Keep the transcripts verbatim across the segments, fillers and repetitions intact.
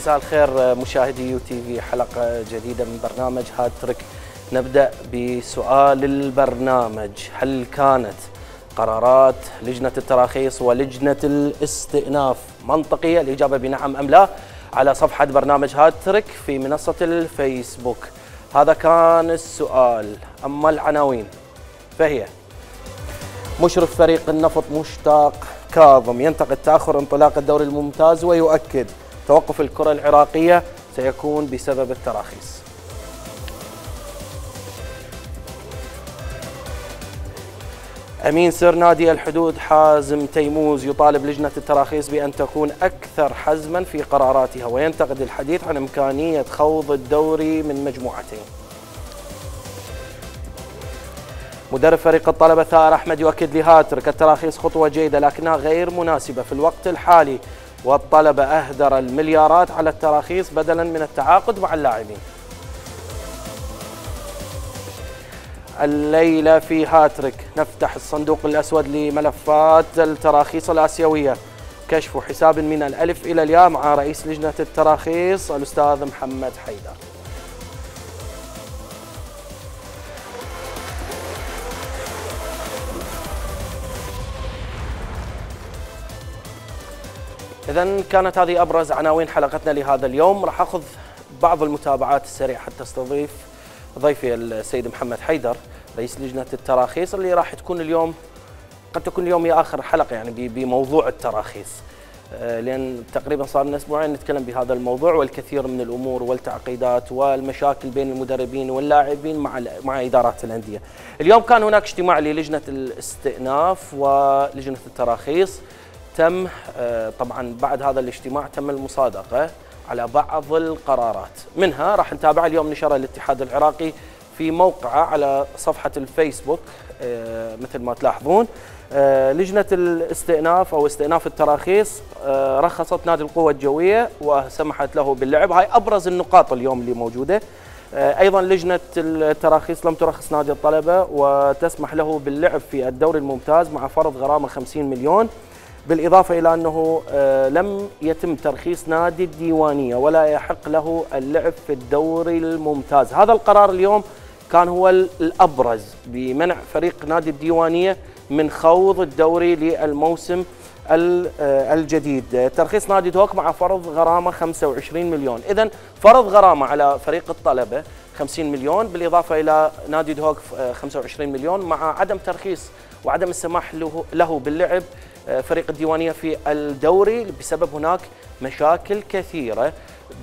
مساء الخير مشاهدي يو تي في، حلقة جديدة من برنامج هاتريك. نبدأ بسؤال البرنامج: هل كانت قرارات لجنة التراخيص ولجنة الاستئناف منطقية؟ الإجابة بنعم أم لا على صفحة برنامج هاتريك في منصة الفيسبوك. هذا كان السؤال. أما العناوين فهي: مشرف فريق النفط مشتاق كاظم ينتقد تأخر انطلاق الدوري الممتاز ويؤكد توقف الكرة العراقية سيكون بسبب التراخيص. أمين سر نادي الحدود حازم تيموز يطالب لجنة التراخيص بأن تكون أكثر حزما في قراراتها وينتقد الحديث عن إمكانية خوض الدوري من مجموعتين. مدرب فريق الطلبة ثائر أحمد يؤكد لهاتريك التراخيص خطوة جيدة لكنها غير مناسبة في الوقت الحالي، والطلبة أهدر المليارات على التراخيص بدلا من التعاقد مع اللاعبين. الليلة في هاتريك نفتح الصندوق الأسود لملفات التراخيص الآسيوية، كشف حساب من الألف إلى الياء مع رئيس لجنة التراخيص الأستاذ محمد حيدر. إذن كانت هذه أبرز عناوين حلقتنا لهذا اليوم. راح أخذ بعض المتابعات السريعة حتى استضيف ضيفي السيد محمد حيدر رئيس لجنة التراخيص، اللي راح تكون اليوم قد تكون اليوم هي آخر حلقة يعني بموضوع التراخيص، لأن تقريبا صار لنا أسبوعين نتكلم بهذا الموضوع والكثير من الأمور والتعقيدات والمشاكل بين المدربين واللاعبين مع مع إدارات الأندية. اليوم كان هناك اجتماع للجنة الاستئناف ولجنة التراخيص. تم طبعا بعد هذا الاجتماع تم المصادقة على بعض القرارات، منها راح نتابع اليوم نشر الاتحاد العراقي في موقعه على صفحة الفيسبوك مثل ما تلاحظون. لجنة الاستئناف أو استئناف التراخيص رخصت نادي القوة الجوية وسمحت له باللعب. هاي أبرز النقاط اليوم اللي موجودة. أيضا لجنة التراخيص لم ترخص نادي الطلبة وتسمح له باللعب في الدوري الممتاز مع فرض غرامة خمسين مليون، بالإضافة إلى أنه لم يتم ترخيص نادي الديوانية ولا يحق له اللعب في الدوري الممتاز. هذا القرار اليوم كان هو الأبرز بمنع فريق نادي الديوانية من خوض الدوري للموسم الجديد. ترخيص نادي دهوك مع فرض غرامة خمسة وعشرين مليون، إذن فرض غرامة على فريق الطلبة خمسين مليون بالإضافة إلى نادي دهوك خمسة وعشرين مليون، مع عدم ترخيص وعدم السماح له, له باللعب فريق الديوانية في الدوري بسبب هناك مشاكل كثيرة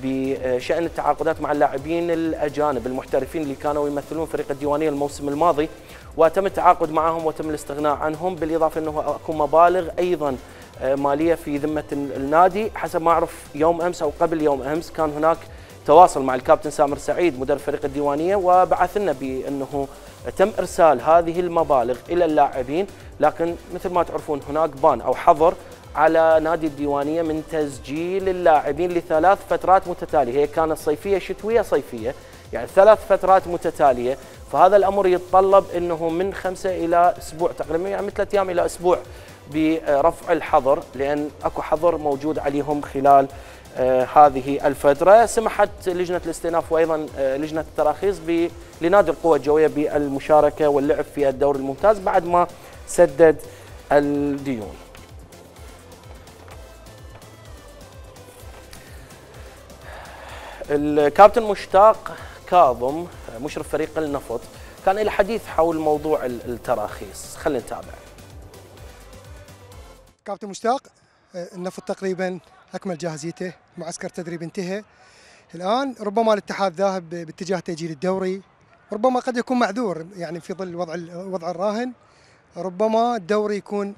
بشأن التعاقدات مع اللاعبين الأجانب المحترفين اللي كانوا يمثلون فريق الديوانية الموسم الماضي، وتم التعاقد معهم وتم الاستغناء عنهم، بالإضافة أنه أكو مبالغ أيضا مالية في ذمة النادي. حسب ما أعرف يوم أمس أو قبل يوم أمس كان هناك تواصل مع الكابتن سامر سعيد مدرب فريق الديوانية وبعث لنا بأنه تم إرسال هذه المبالغ إلى اللاعبين، لكن مثل ما تعرفون هناك بان أو حظر على نادي الديوانية من تسجيل اللاعبين لثلاث فترات متتالية. هي كانت صيفية شتوية صيفية، يعني ثلاث فترات متتالية، فهذا الأمر يتطلب أنه من خمسة إلى أسبوع تقريبا، يعني من ثلاثة أيام إلى أسبوع برفع الحظر، لأن أكو حظر موجود عليهم خلال آه هذه الفترة. سمحت لجنة الاستئناف وأيضا آه لجنة التراخيص لنادي القوة الجوية بالمشاركة واللعب في الدوري الممتاز بعد ما سدد الديون. الكابتن مشتاق كاظم مشرف فريق النفط كان له حديث حول موضوع التراخيص، خلينا نتابع. كابتن مشتاق، النفط تقريبا اكمل جاهزيته، معسكر تدريب انتهى، الان ربما الاتحاد ذاهب باتجاه تاجيل الدوري، ربما قد يكون معذور يعني في ظل وضع الوضع الراهن، ربما الدوري يكون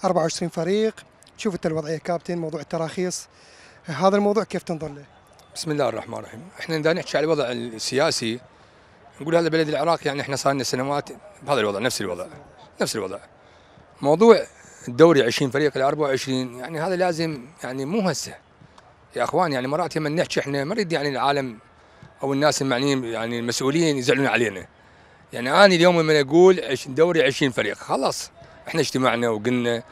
أربعة وعشرين فريق. شوف انت الوضعيه كابتن، موضوع التراخيص هذا الموضوع كيف تنظر له؟ بسم الله الرحمن الرحيم. احنا بدنا نحكي على الوضع السياسي، نقول هذا بلد العراق، يعني احنا صار لنا سنوات بهذا الوضع، نفس الوضع نفس الوضع. موضوع الدوري عشرين فريق الى أربعة وعشرين، يعني هذا لازم، يعني مو هسه يا اخوان، يعني مرات لما نحكي احنا ما نريد يعني العالم او الناس المعنيين يعني المسؤولين يزعلون علينا. يعني انا اليوم لما اقول دوري عشرين فريق خلاص احنا اجتمعنا وقلنا،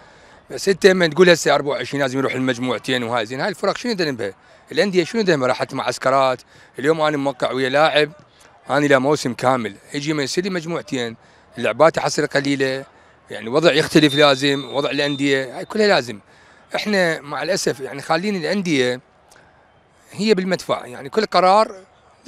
بس انت لما تقول هسه أربعة وعشرين لازم يروح المجموعتين وهاي، زين هاي الفرق شنو ذنبها؟ الانديه شنو دائما راحت معسكرات. اليوم انا موقع ويا لاعب انا له موسم كامل، يجي ما يصير لي مجموعتين، اللعبات حصل قليله، يعني وضع يختلف، لازم وضع الانديه هاي كلها لازم. احنا مع الاسف يعني خالين الانديه هي بالمدفع، يعني كل قرار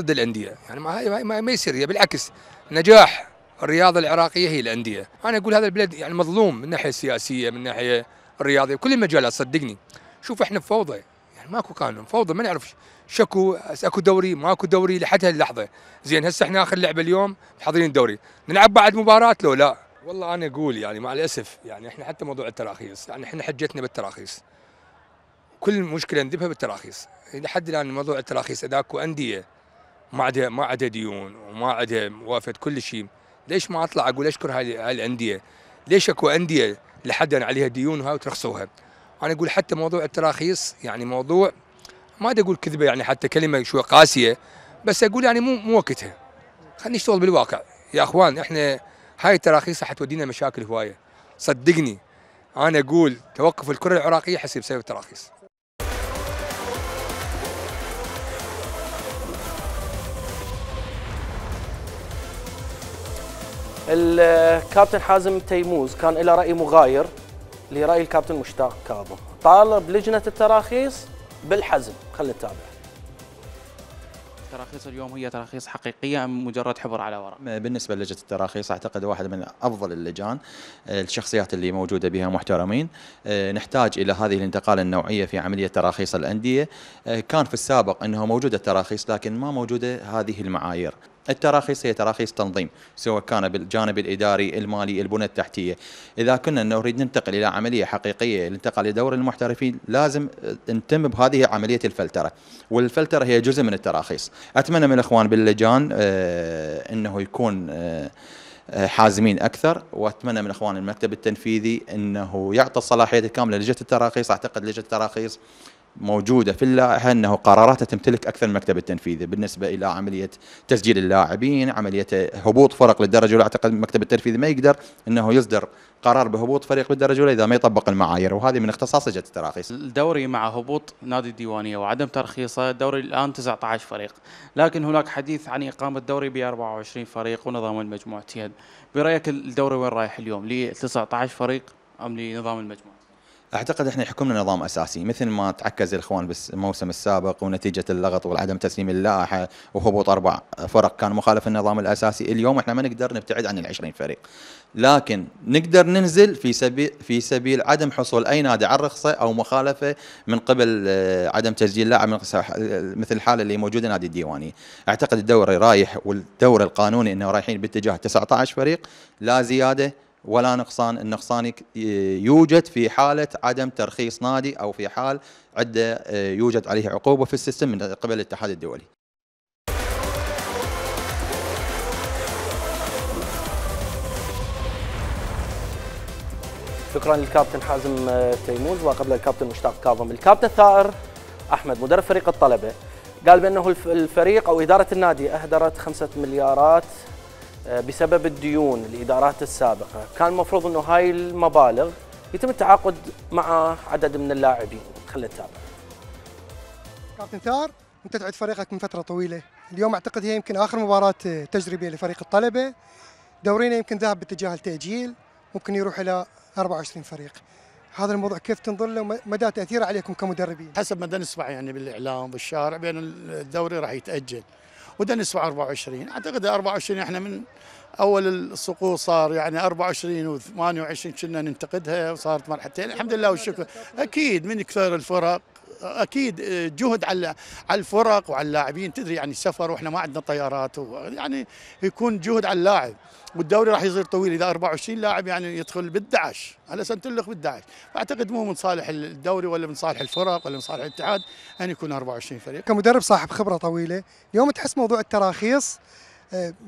ضد الانديه، يعني ما هاي ما, ما يصير. هي بالعكس نجاح الرياضه العراقيه هي الانديه. انا اقول هذا البلد يعني مظلوم من الناحيه السياسيه، من الناحيه الرياضيه، كل المجالات صدقني. شوف احنا بفوضى، يعني ماكو قانون، فوضى، ما نعرف شكو اكو دوري ماكو دوري لحد هاللحظه. زين هسه احنا اخر لعبه اليوم حاضرين الدوري، نلعب بعد مباراه لو لا؟ والله انا اقول يعني مع الاسف يعني احنا حتى موضوع التراخيص، يعني احنا حجتنا بالتراخيص، كل مشكله ندبها بالتراخيص. لحد الان موضوع التراخيص اذا اكو انديه ما عندها ما عندها ديون وما عندها موافقه كل شيء، ليش ما اطلع اقول اشكر هاي هاي الانديه؟ ليش اكو انديه لحد الان عليها ديون وهاي وترخصوها؟ انا اقول حتى موضوع التراخيص يعني موضوع ما بدي اقول كذبه، يعني حتى كلمه شوي قاسيه، بس اقول يعني مو مو وقتها. خلينا نشتغل بالواقع يا اخوان. احنا هاي التراخيص راح تودينا مشاكل هوايه صدقني. انا اقول توقف الكره العراقيه حسب بسبب التراخيص. الكابتن حازم تيموز كان له رأي مغاير لرأي الكابتن مشتاق كاظم، طالب لجنة التراخيص بالحزم. خلينا نتابع. التراخيص اليوم هي تراخيص حقيقية أم مجرد حبر على ورق؟ بالنسبة للجنة التراخيص أعتقد واحد من أفضل اللجان، الشخصيات اللي موجودة بها محترمين. نحتاج إلى هذه الانتقال النوعية في عملية تراخيص الأندية. كان في السابق أنه موجودة التراخيص لكن ما موجودة هذه المعايير. التراخيص هي تراخيص تنظيم، سواء كان بالجانب الإداري، المالي، البنى التحتية. إذا كنا نريد ننتقل إلى عملية حقيقية الانتقال لدور المحترفين لازم نتم بهذه عملية الفلترة، والفلترة هي جزء من التراخيص. أتمنى من الإخوان باللجان آه أنه يكون آه حازمين أكثر، وأتمنى من إخوان المكتب التنفيذي أنه يعطي الصلاحيات الكاملة لجنة التراخيص. أعتقد لجنة التراخيص موجودة في اللائحة أنه قراراتها تمتلك أكثر من المكتب التنفيذي بالنسبة إلى عملية تسجيل اللاعبين، عملية هبوط فرق للدرجة الأولى. أعتقد المكتب التنفيذي ما يقدر أنه يصدر قرار بهبوط فريق بالدرجة الأولى إذا ما يطبق المعايير، وهذه من اختصاص لجنة التراخيص. الدوري مع هبوط نادي الديوانية وعدم ترخيصه، الدوري الآن تسعة عشر فريق، لكن هناك حديث عن إقامة دوري ب أربعة وعشرين فريق ونظام المجموعتين. برأيك الدوري وين رايح اليوم؟ ل تسعة عشر فريق أم لنظام المجموعة؟ اعتقد احنا يحكمنا نظام اساسي مثل ما تعكز الاخوان بالموسم السابق، ونتيجه اللغط وعدم تسليم اللائحه وهبوط اربع فرق كان مخالف النظام الاساسي. اليوم احنا ما نقدر نبتعد عن العشرين فريق، لكن نقدر ننزل في سبيل في سبيل عدم حصول اي نادي على رخصه او مخالفه من قبل عدم تسجيل لاعب مثل الحاله اللي موجوده نادي الديوانيه. اعتقد الدوري رايح والدوري القانوني انه رايحين باتجاه تسعة عشر فريق، لا زياده ولا نقصان. النقصان يوجد في حالة عدم ترخيص نادي أو في حال عدة يوجد عليه عقوبة في السيستم من قبل الاتحاد الدولي. شكرا للكابتن حازم تيموز وقبل الكابتن مشتاق كاظم. الكابتن ثائر أحمد مدرب فريق الطلبة قال بأنه الفريق أو إدارة النادي أهدرت خمسة مليارات بسبب الديون الإدارات السابقة. كان المفروض أنه هاي المبالغ يتم التعاقد مع عدد من اللاعبين. خلينا نتابع. كابتن ثار، أنت تعد فريقك من فترة طويلة، اليوم أعتقد هي يمكن آخر مباراة تجريبية لفريق الطلبة. دورينا يمكن ذهب باتجاه التأجيل، ممكن يروح إلى أربعة وعشرين فريق. هذا الموضوع كيف تنظر له ومدى تأثيره عليكم كمدربين؟ حسب ما نسمع يعني بالإعلام بالشارع بأن الدوري راح يتأجل، وده نسمع أربعة وعشرين. أعتقد أربعة وعشرين إحنا من أول السقوط صار يعني أربعة وعشرين وثمانية وعشرين كنا ننتقدها وصارت مرحلتين. الحمد لله والشكر. أكيد من كثر الفرق اكيد جهد على على الفرق وعلى اللاعبين. تدري يعني السفر واحنا ما عندنا طيارات، يعني يكون جهد على اللاعب. والدوري راح يصير طويل اذا أربعة وعشرين لاعب يعني يدخل بالأحد عشر على سنه تلخ بالأحد عشر. فاعتقد مو من صالح الدوري ولا من صالح الفرق ولا من صالح الاتحاد ان يكون أربعة وعشرين فريق. كمدرب صاحب خبره طويله، اليوم تحس موضوع التراخيص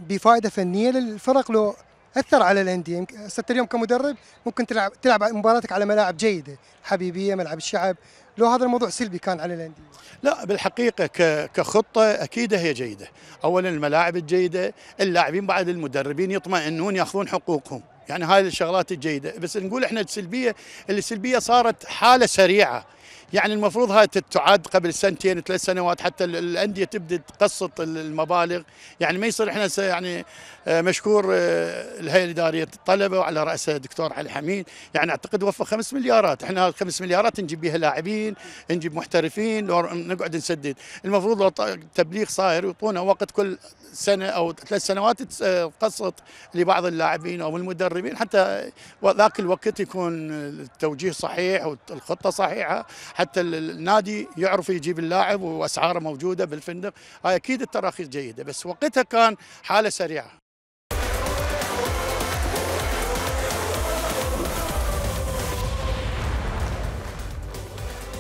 بفائده فنيه للفرق لو اثر على الانديه؟ ست اليوم كمدرب ممكن تلعب تلعب مباراتك على ملاعب جيده، حبيبيه، ملعب الشعب، لو هذا الموضوع سلبي كان على الانديه؟ لا بالحقيقه كخطه اكيد هي جيده. اولا الملاعب الجيده، اللاعبين بعد المدربين يطمئنون ياخذون حقوقهم، يعني هاي الشغلات الجيده. بس نقول احنا السلبيه، السلبيه صارت حاله سريعه، يعني المفروض هاي تعاد قبل سنتين ثلاث سنوات حتى الانديه تبدا تقسط المبالغ، يعني ما يصير احنا يعني مشكور الهيئه الاداريه الطلبه وعلى راسها الدكتور علي حميد، يعني اعتقد وفر خمس مليارات، احنا خمس مليارات نجيب بها لاعبين، نجيب محترفين، نقعد نسدد. المفروض لو تبليغ صاير يعطونا وقت كل سنه او ثلاث سنوات تقسط لبعض اللاعبين او المدربين، حتى ذاك الوقت يكون التوجيه صحيح والخطه صحيحه، حتى النادي يعرف يجيب اللاعب واسعاره موجوده بالفندق. هاي اكيد التراخيص جيده، بس وقتها كان حاله سريعه.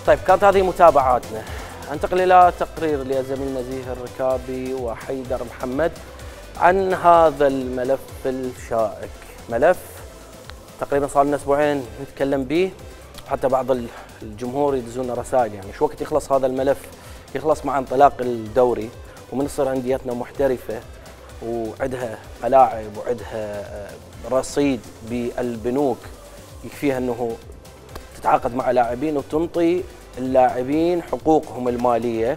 طيب كانت هذه متابعاتنا. انتقل الى تقرير لزميلنا زيهر الركابي وحيدر محمد عن هذا الملف الشائك، ملف تقريبا صار لنا اسبوعين نتكلم به، حتى بعض الجمهور يدزون رسائل يعني شو وقت يخلص هذا الملف، يخلص مع انطلاق الدوري ومن تصير انديتنا محترفه وعندها ملاعب وعندها رصيد بالبنوك يكفيها انه تتعاقد مع لاعبين وتنطي اللاعبين حقوقهم الماليه.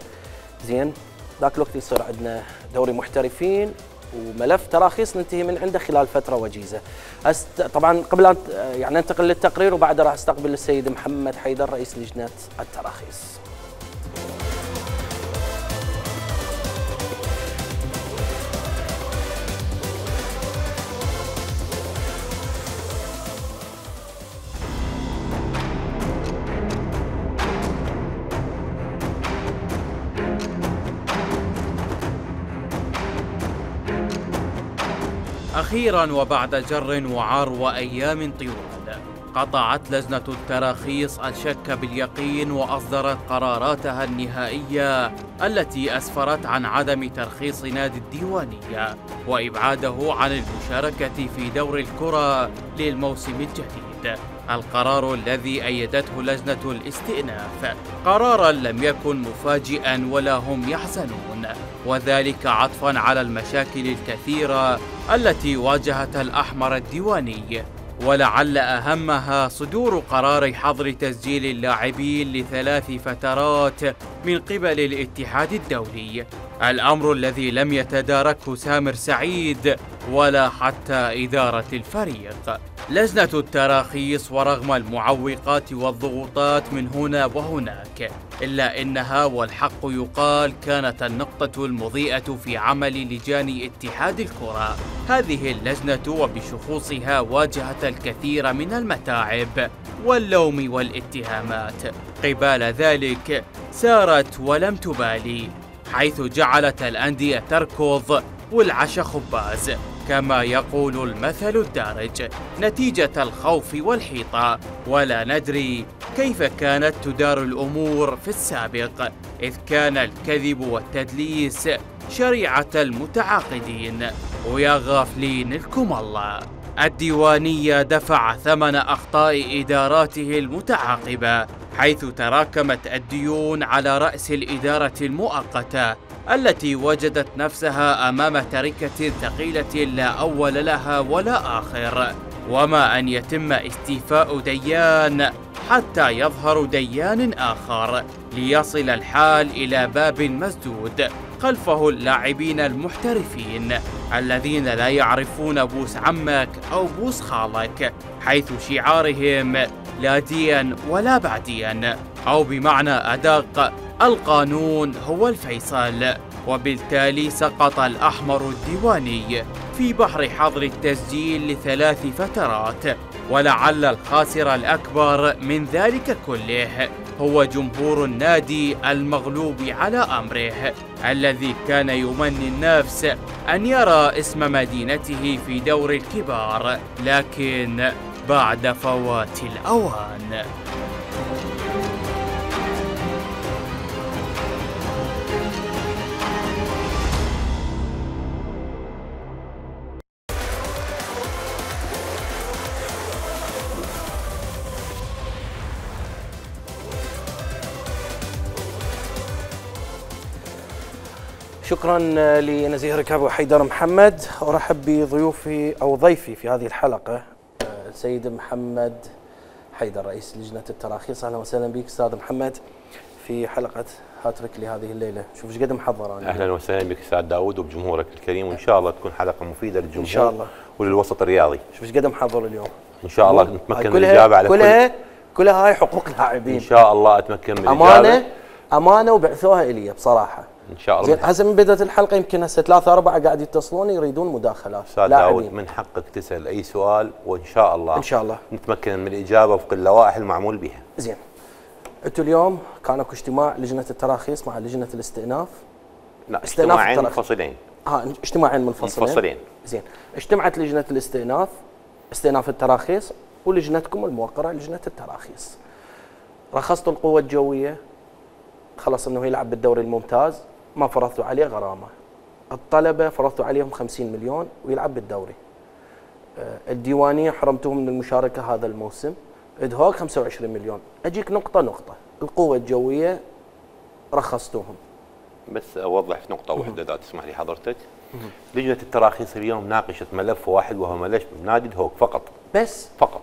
زين ذاك الوقت يصير عندنا دوري محترفين وملف تراخيص ننتهي من عنده خلال فتره وجيزه. أست... طبعا قبل ان يعني ننتقل للتقرير وبعد راح استقبل السيد محمد حيدر رئيس لجنه التراخيص. أخيراً وبعد جر وعار وأيام طوال، قطعت لجنة التراخيص الشك باليقين وأصدرت قراراتها النهائية التي أسفرت عن عدم ترخيص نادي الديوانية وإبعاده عن المشاركة في دور الكرة للموسم الجديد. القرار الذي أيدته لجنة الاستئناف قراراً لم يكن مفاجئاً ولا هم يحزنون، وذلك عطفاً على المشاكل الكثيرة التي واجهت الأحمر الديواني، ولعل أهمها صدور قرار حظر تسجيل اللاعبين لثلاث فترات من قبل الاتحاد الدولي، الأمر الذي لم يتداركه سامر سعيد ولا حتى إدارة الفريق. لجنة التراخيص ورغم المعوقات والضغوطات من هنا وهناك، إلا إنها والحق يقال كانت النقطة المضيئة في عمل لجان اتحاد الكرة. هذه اللجنة وبشخوصها واجهت الكثير من المتاعب واللوم والاتهامات، قبال ذلك سارت ولم تبالي، حيث جعلت الأندية تركض والعش خباز كما يقول المثل الدارج نتيجة الخوف والحيطة، ولا ندري كيف كانت تدار الأمور في السابق، إذ كان الكذب والتدليس شريعة المتعاقدين. ويا غافلين لكم الله، الديوانية دفع ثمن أخطاء إداراته المتعاقبة، حيث تراكمت الديون على رأس الإدارة المؤقتة التي وجدت نفسها أمام تركة ثقيلة لا أول لها ولا آخر، وما أن يتم استيفاء ديان حتى يظهر ديان آخر، ليصل الحال إلى باب مسدود خلفه اللاعبين المحترفين الذين لا يعرفون بوس عمك أو بوس خالك، حيث شعارهم لا دين ولا بعدين، أو بمعنى أدق القانون هو الفيصل. وبالتالي سقط الأحمر الديواني في بحر حظر التسجيل لثلاث فترات، ولعل الخاسر الأكبر من ذلك كله هو جمهور النادي المغلوب على أمره، الذي كان يمني النفس أن يرى اسم مدينته في دور الكبار، لكن بعد فوات الأوان. شكرا لنزيه ركابي وحيدر محمد. ارحب بضيوفي او ضيفي في هذه الحلقه سيد محمد حيدر رئيس لجنة التراخيص. أهلا وسهلا بك أستاذ محمد في حلقة هاتريك لهذه الليلة. شوف ايش قد محضر أنا. أهلا وسهلا بك أستاذ داود وبجمهورك الكريم، وإن شاء الله تكون حلقة مفيدة للجمهور إن شاء الله وللوسط الرياضي. شوف ايش قد محضر اليوم. إن شاء الله نتمكن من كلها الإجابة على كلها كل كلها هاي حقوق لاعبين. إن شاء الله أتمكن من الإجابة. أمانة أمانة وبعثوها إلي بصراحة. إن شاء الله. زين هسه من بدأت الحلقة يمكن هسه ثلاثة أربعة قاعد يتصلون يريدون مداخلات. أستاذ داود من حقك تسأل أي سؤال وإن شاء الله إن شاء الله نتمكن من الإجابة وفق اللوائح المعمول بها. زين. أنتم اليوم كان اكو اجتماع لجنة التراخيص مع لجنة الاستئناف. لا اجتماعين منفصلين. ها اجتماعين منفصلين. منفصلين. زين. اجتمعت لجنة الاستئناف استئناف التراخيص ولجنتكم الموقرة لجنة التراخيص. رخصتوا القوة الجوية، خلص انه يلعب بالدوري الممتاز، ما فرضتوا عليه غرامة. الطلبة فرضتوا عليهم خمسين مليون ويلعب بالدوري. الديوانية حرمتوهم من المشاركة هذا الموسم، ادهوك خمسة وعشرين مليون. اجيك نقطة نقطة. القوة الجوية رخصتوهم. بس اوضح في نقطة واحدة اذا تسمح لي حضرتك. لجنة التراخيص اليوم ناقشت ملف واحد وهو ملف نادي دهوك فقط. بس فقط.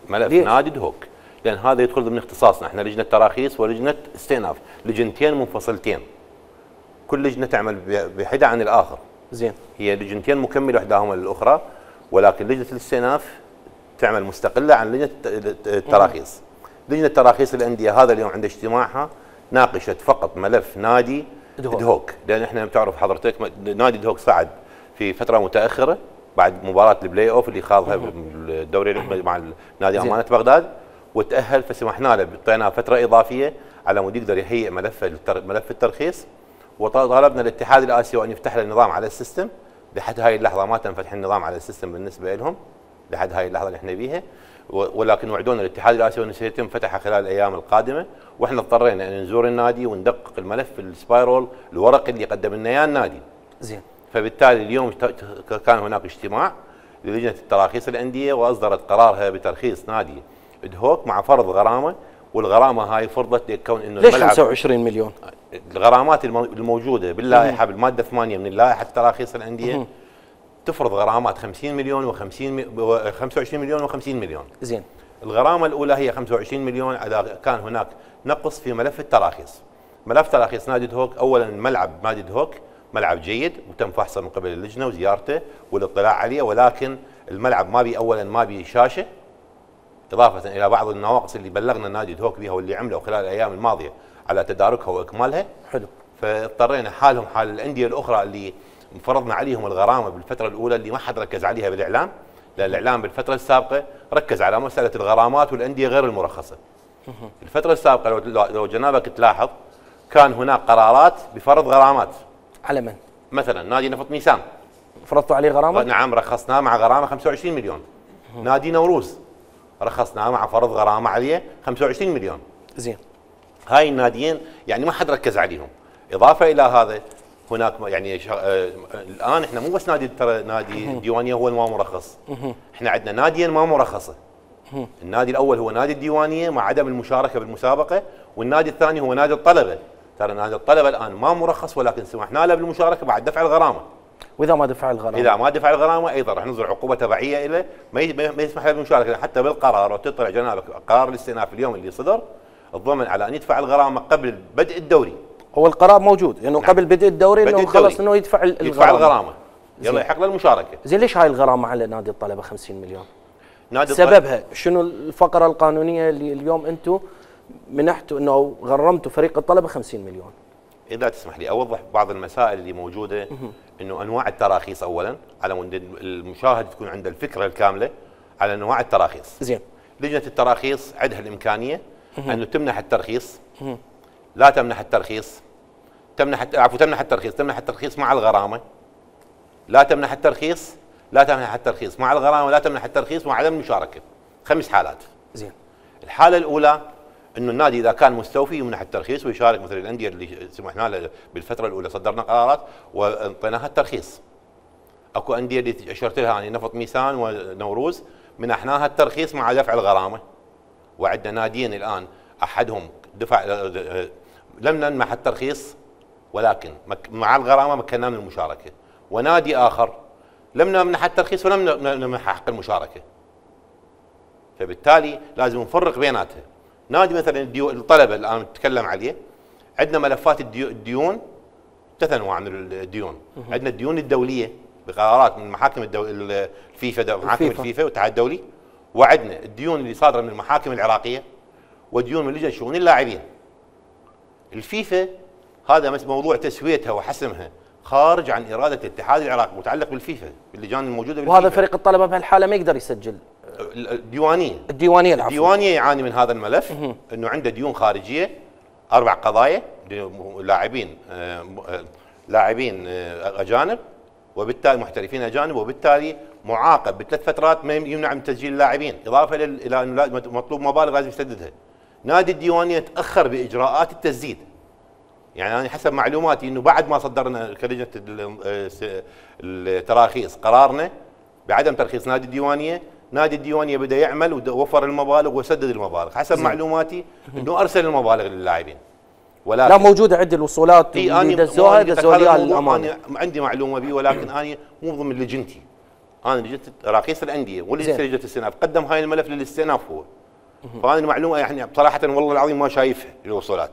ملف ليش؟ نادي دهوك، لان هذا يدخل ضمن اختصاصنا، احنا لجنة تراخيص ولجنة استئناف، لجنتين منفصلتين. كل لجنة تعمل بحدة عن الاخر. زين. هي لجنتين مكملة احداهما للاخرى، ولكن لجنة الاستئناف تعمل مستقلة عن لجنة التراخيص. لجنة تراخيص الأندية هذا اليوم عند اجتماعها ناقشت فقط ملف نادي دهوك, دهوك. لأن احنا بتعرف حضرتك نادي دهوك صعد في فترة متأخرة بعد مباراة البلاي اوف اللي خاضها بالدوري مع نادي أمانة بغداد وتأهل، فسمحنا له اعطيناه فترة إضافية على مود يقدر يهيئ ملف ملف الترخيص، وطالبنا الاتحاد الآسيوي أن يفتح له النظام على السيستم. لحد هاي اللحظة ما تم فتح النظام على السيستم بالنسبة لهم لحد هاي اللحظة اللي احنا بيها، ولكن وعدونا الاتحاد الآسيوي أنه سيتم فتحها خلال الأيام القادمة، واحنا اضطرينا أن نزور النادي وندقق الملف السبايرول الورقي اللي قدم لنا اياه النادي. زين. فبالتالي اليوم كان هناك اجتماع للجنة التراخيص الأندية وأصدرت قرارها بترخيص نادي دهوك مع فرض غرامة، والغرامة هاي فرضت لكون انه ليش خمسة وعشرين مليون؟ الغرامات الموجودة باللائحة بالمادة ثمانية من اللائحة تراخيص الأندية تفرض غرامات خمسين مليون و50 خمسة وعشرين مليون و50 مليون. زين. الغرامة الأولى هي خمسة وعشرين مليون إذا كان هناك نقص في ملف التراخيص. ملف تراخيص نادي دهوك، أولا ملعب نادي دهوك ملعب جيد وتم فحصه من قبل اللجنة وزيارته والاطلاع عليه، ولكن الملعب ما بي أولا ما بي شاشة، إضافة إلى بعض النواقص اللي بلغنا نادي دهوك بها واللي عمله خلال الأيام الماضية على تداركها وإكمالها. حلو. فاضطرينا حالهم حال الأندية الأخرى اللي فرضنا عليهم الغرامة بالفترة الأولى اللي ما حد ركز عليها بالإعلام، لأن الإعلام بالفترة السابقة ركز على مسألة الغرامات والأندية غير المرخصة. الفترة السابقة لو لو جنابك تلاحظ كان هناك قرارات بفرض غرامات. على من؟ مثلا نادي نفط ميسان فرضتوا عليه غرامة؟ نعم رخصناه مع غرامة خمسة وعشرين مليون. نادي نوروز رخصناه مع فرض غرامة عليه خمسة وعشرين مليون. زين. هاي الناديين يعني ما حد ركز عليهم. إضافة إلى هذا هناك يعني شغ... آه الآن احنا مو بس نادي ترى نادي الديوانية هو ما مرخص. احنا عندنا ناديين ما مرخصة. النادي الأول هو نادي الديوانية مع عدم المشاركة بالمسابقة، والنادي الثاني هو نادي الطلبة. ترى نادي الطلبة الآن ما مرخص ولكن سمحنا له بالمشاركة بعد دفع الغرامة. وإذا ما دفع الغرامة؟ إذا ما دفع الغرامة أيضا راح نصدر عقوبة تبعية له، ما يسمح له بالمشاركة حتى بالقرار. وتطلع جنابك قرار الاستئناف اليوم اللي صدر الضمن على أن يدفع الغرامة قبل بدء الدوري. هو القرار موجود انه يعني نعم. قبل بدء الدوري انه خلص انه يدفع الغرامة. يدفع الغرامة. يلا يحق له المشاركة. زين ليش هاي الغرامة على نادي الطلبة خمسين مليون؟ نادي سببها شنو الفقرة القانونية اللي اليوم انتم منحتوا انه غرمتوا فريق الطلبة خمسين مليون؟ إذا تسمح لي أوضح بعض المسائل اللي موجودة. إنه أنواع التراخيص أولاً على مود المشاهد تكون عنده الفكرة الكاملة على أنواع التراخيص. زين. لجنة التراخيص عندها الإمكانية أنه تمنح الترخيص، لا تمنح الترخيص، تمنح عفوا تمنح الترخيص، تمنح الترخيص مع الغرامة، لا تمنح الترخيص، لا تمنح الترخيص مع الغرامة، لا تمنح الترخيص مع عدم المشاركة. خمس حالات. زين. الحالة الأولى انه النادي اذا كان مستوفي يمنح الترخيص ويشارك مثل الانديه اللي سمحنا له بالفتره الاولى صدرنا قرارات واعطيناها الترخيص. اكو انديه اللي اشرت لها يعني نفط ميسان ونوروز منحناها الترخيص مع دفع الغرامه. وعندنا ناديين الان احدهم دفع لم نمنح الترخيص ولكن مع الغرامه مكناه من المشاركه، ونادي اخر لم نمنح الترخيص ولم نمنح حق المشاركه. فبالتالي لازم نفرق بيناتها. نادي مثلا الطلبه الان نتكلم عليه، عندنا ملفات الديون ثلاث انواع من الديون. عندنا الديون الدوليه بقرارات من محاكم الدو... الفيفا محاكم الفيفا والاتحاد الدولي، وعندنا الديون اللي صادره من المحاكم العراقيه وديون من لجنه شؤون اللاعبين. الفيفا هذا موضوع تسويتها وحسمها خارج عن اراده الاتحاد العراقي، متعلق بالفيفا باللجان الموجوده بالفيفا. وهذا فريق الطلبه بهالحاله ما يقدر يسجل. الديوانيه الديوانيه العفو. الديوانيه يعاني من هذا الملف، انه عنده ديون خارجيه اربع قضايا لاعبين لاعبين اجانب وبالتالي محترفين اجانب، وبالتالي معاقب بثلاث فترات ما يمنع من تسجيل اللاعبين، اضافه الى انه مطلوب مبالغ لازم يسددها. نادي الديوانيه تاخر باجراءات التسديد. يعني انا حسب معلوماتي انه بعد ما صدرنا كلجنه التراخيص قرارنا بعدم ترخيص نادي الديوانيه، نادي الديوانيه بدا يعمل ووفر المبالغ وسدد المبالغ، حسب زي. معلوماتي انه ارسل المبالغ للاعبين. ولكن لا موجوده عندي الوصولات اللي دزوها دزوها لي الامانه. عندي معلومه به، ولكن انا مو ضمن لجنتي. انا لجنه تراخيص الانديه ولجنه لجنه الاستئناف، قدم هاي الملف للاستئناف هو. فانا المعلومه يعني بصراحه والله العظيم ما شايفها الوصولات.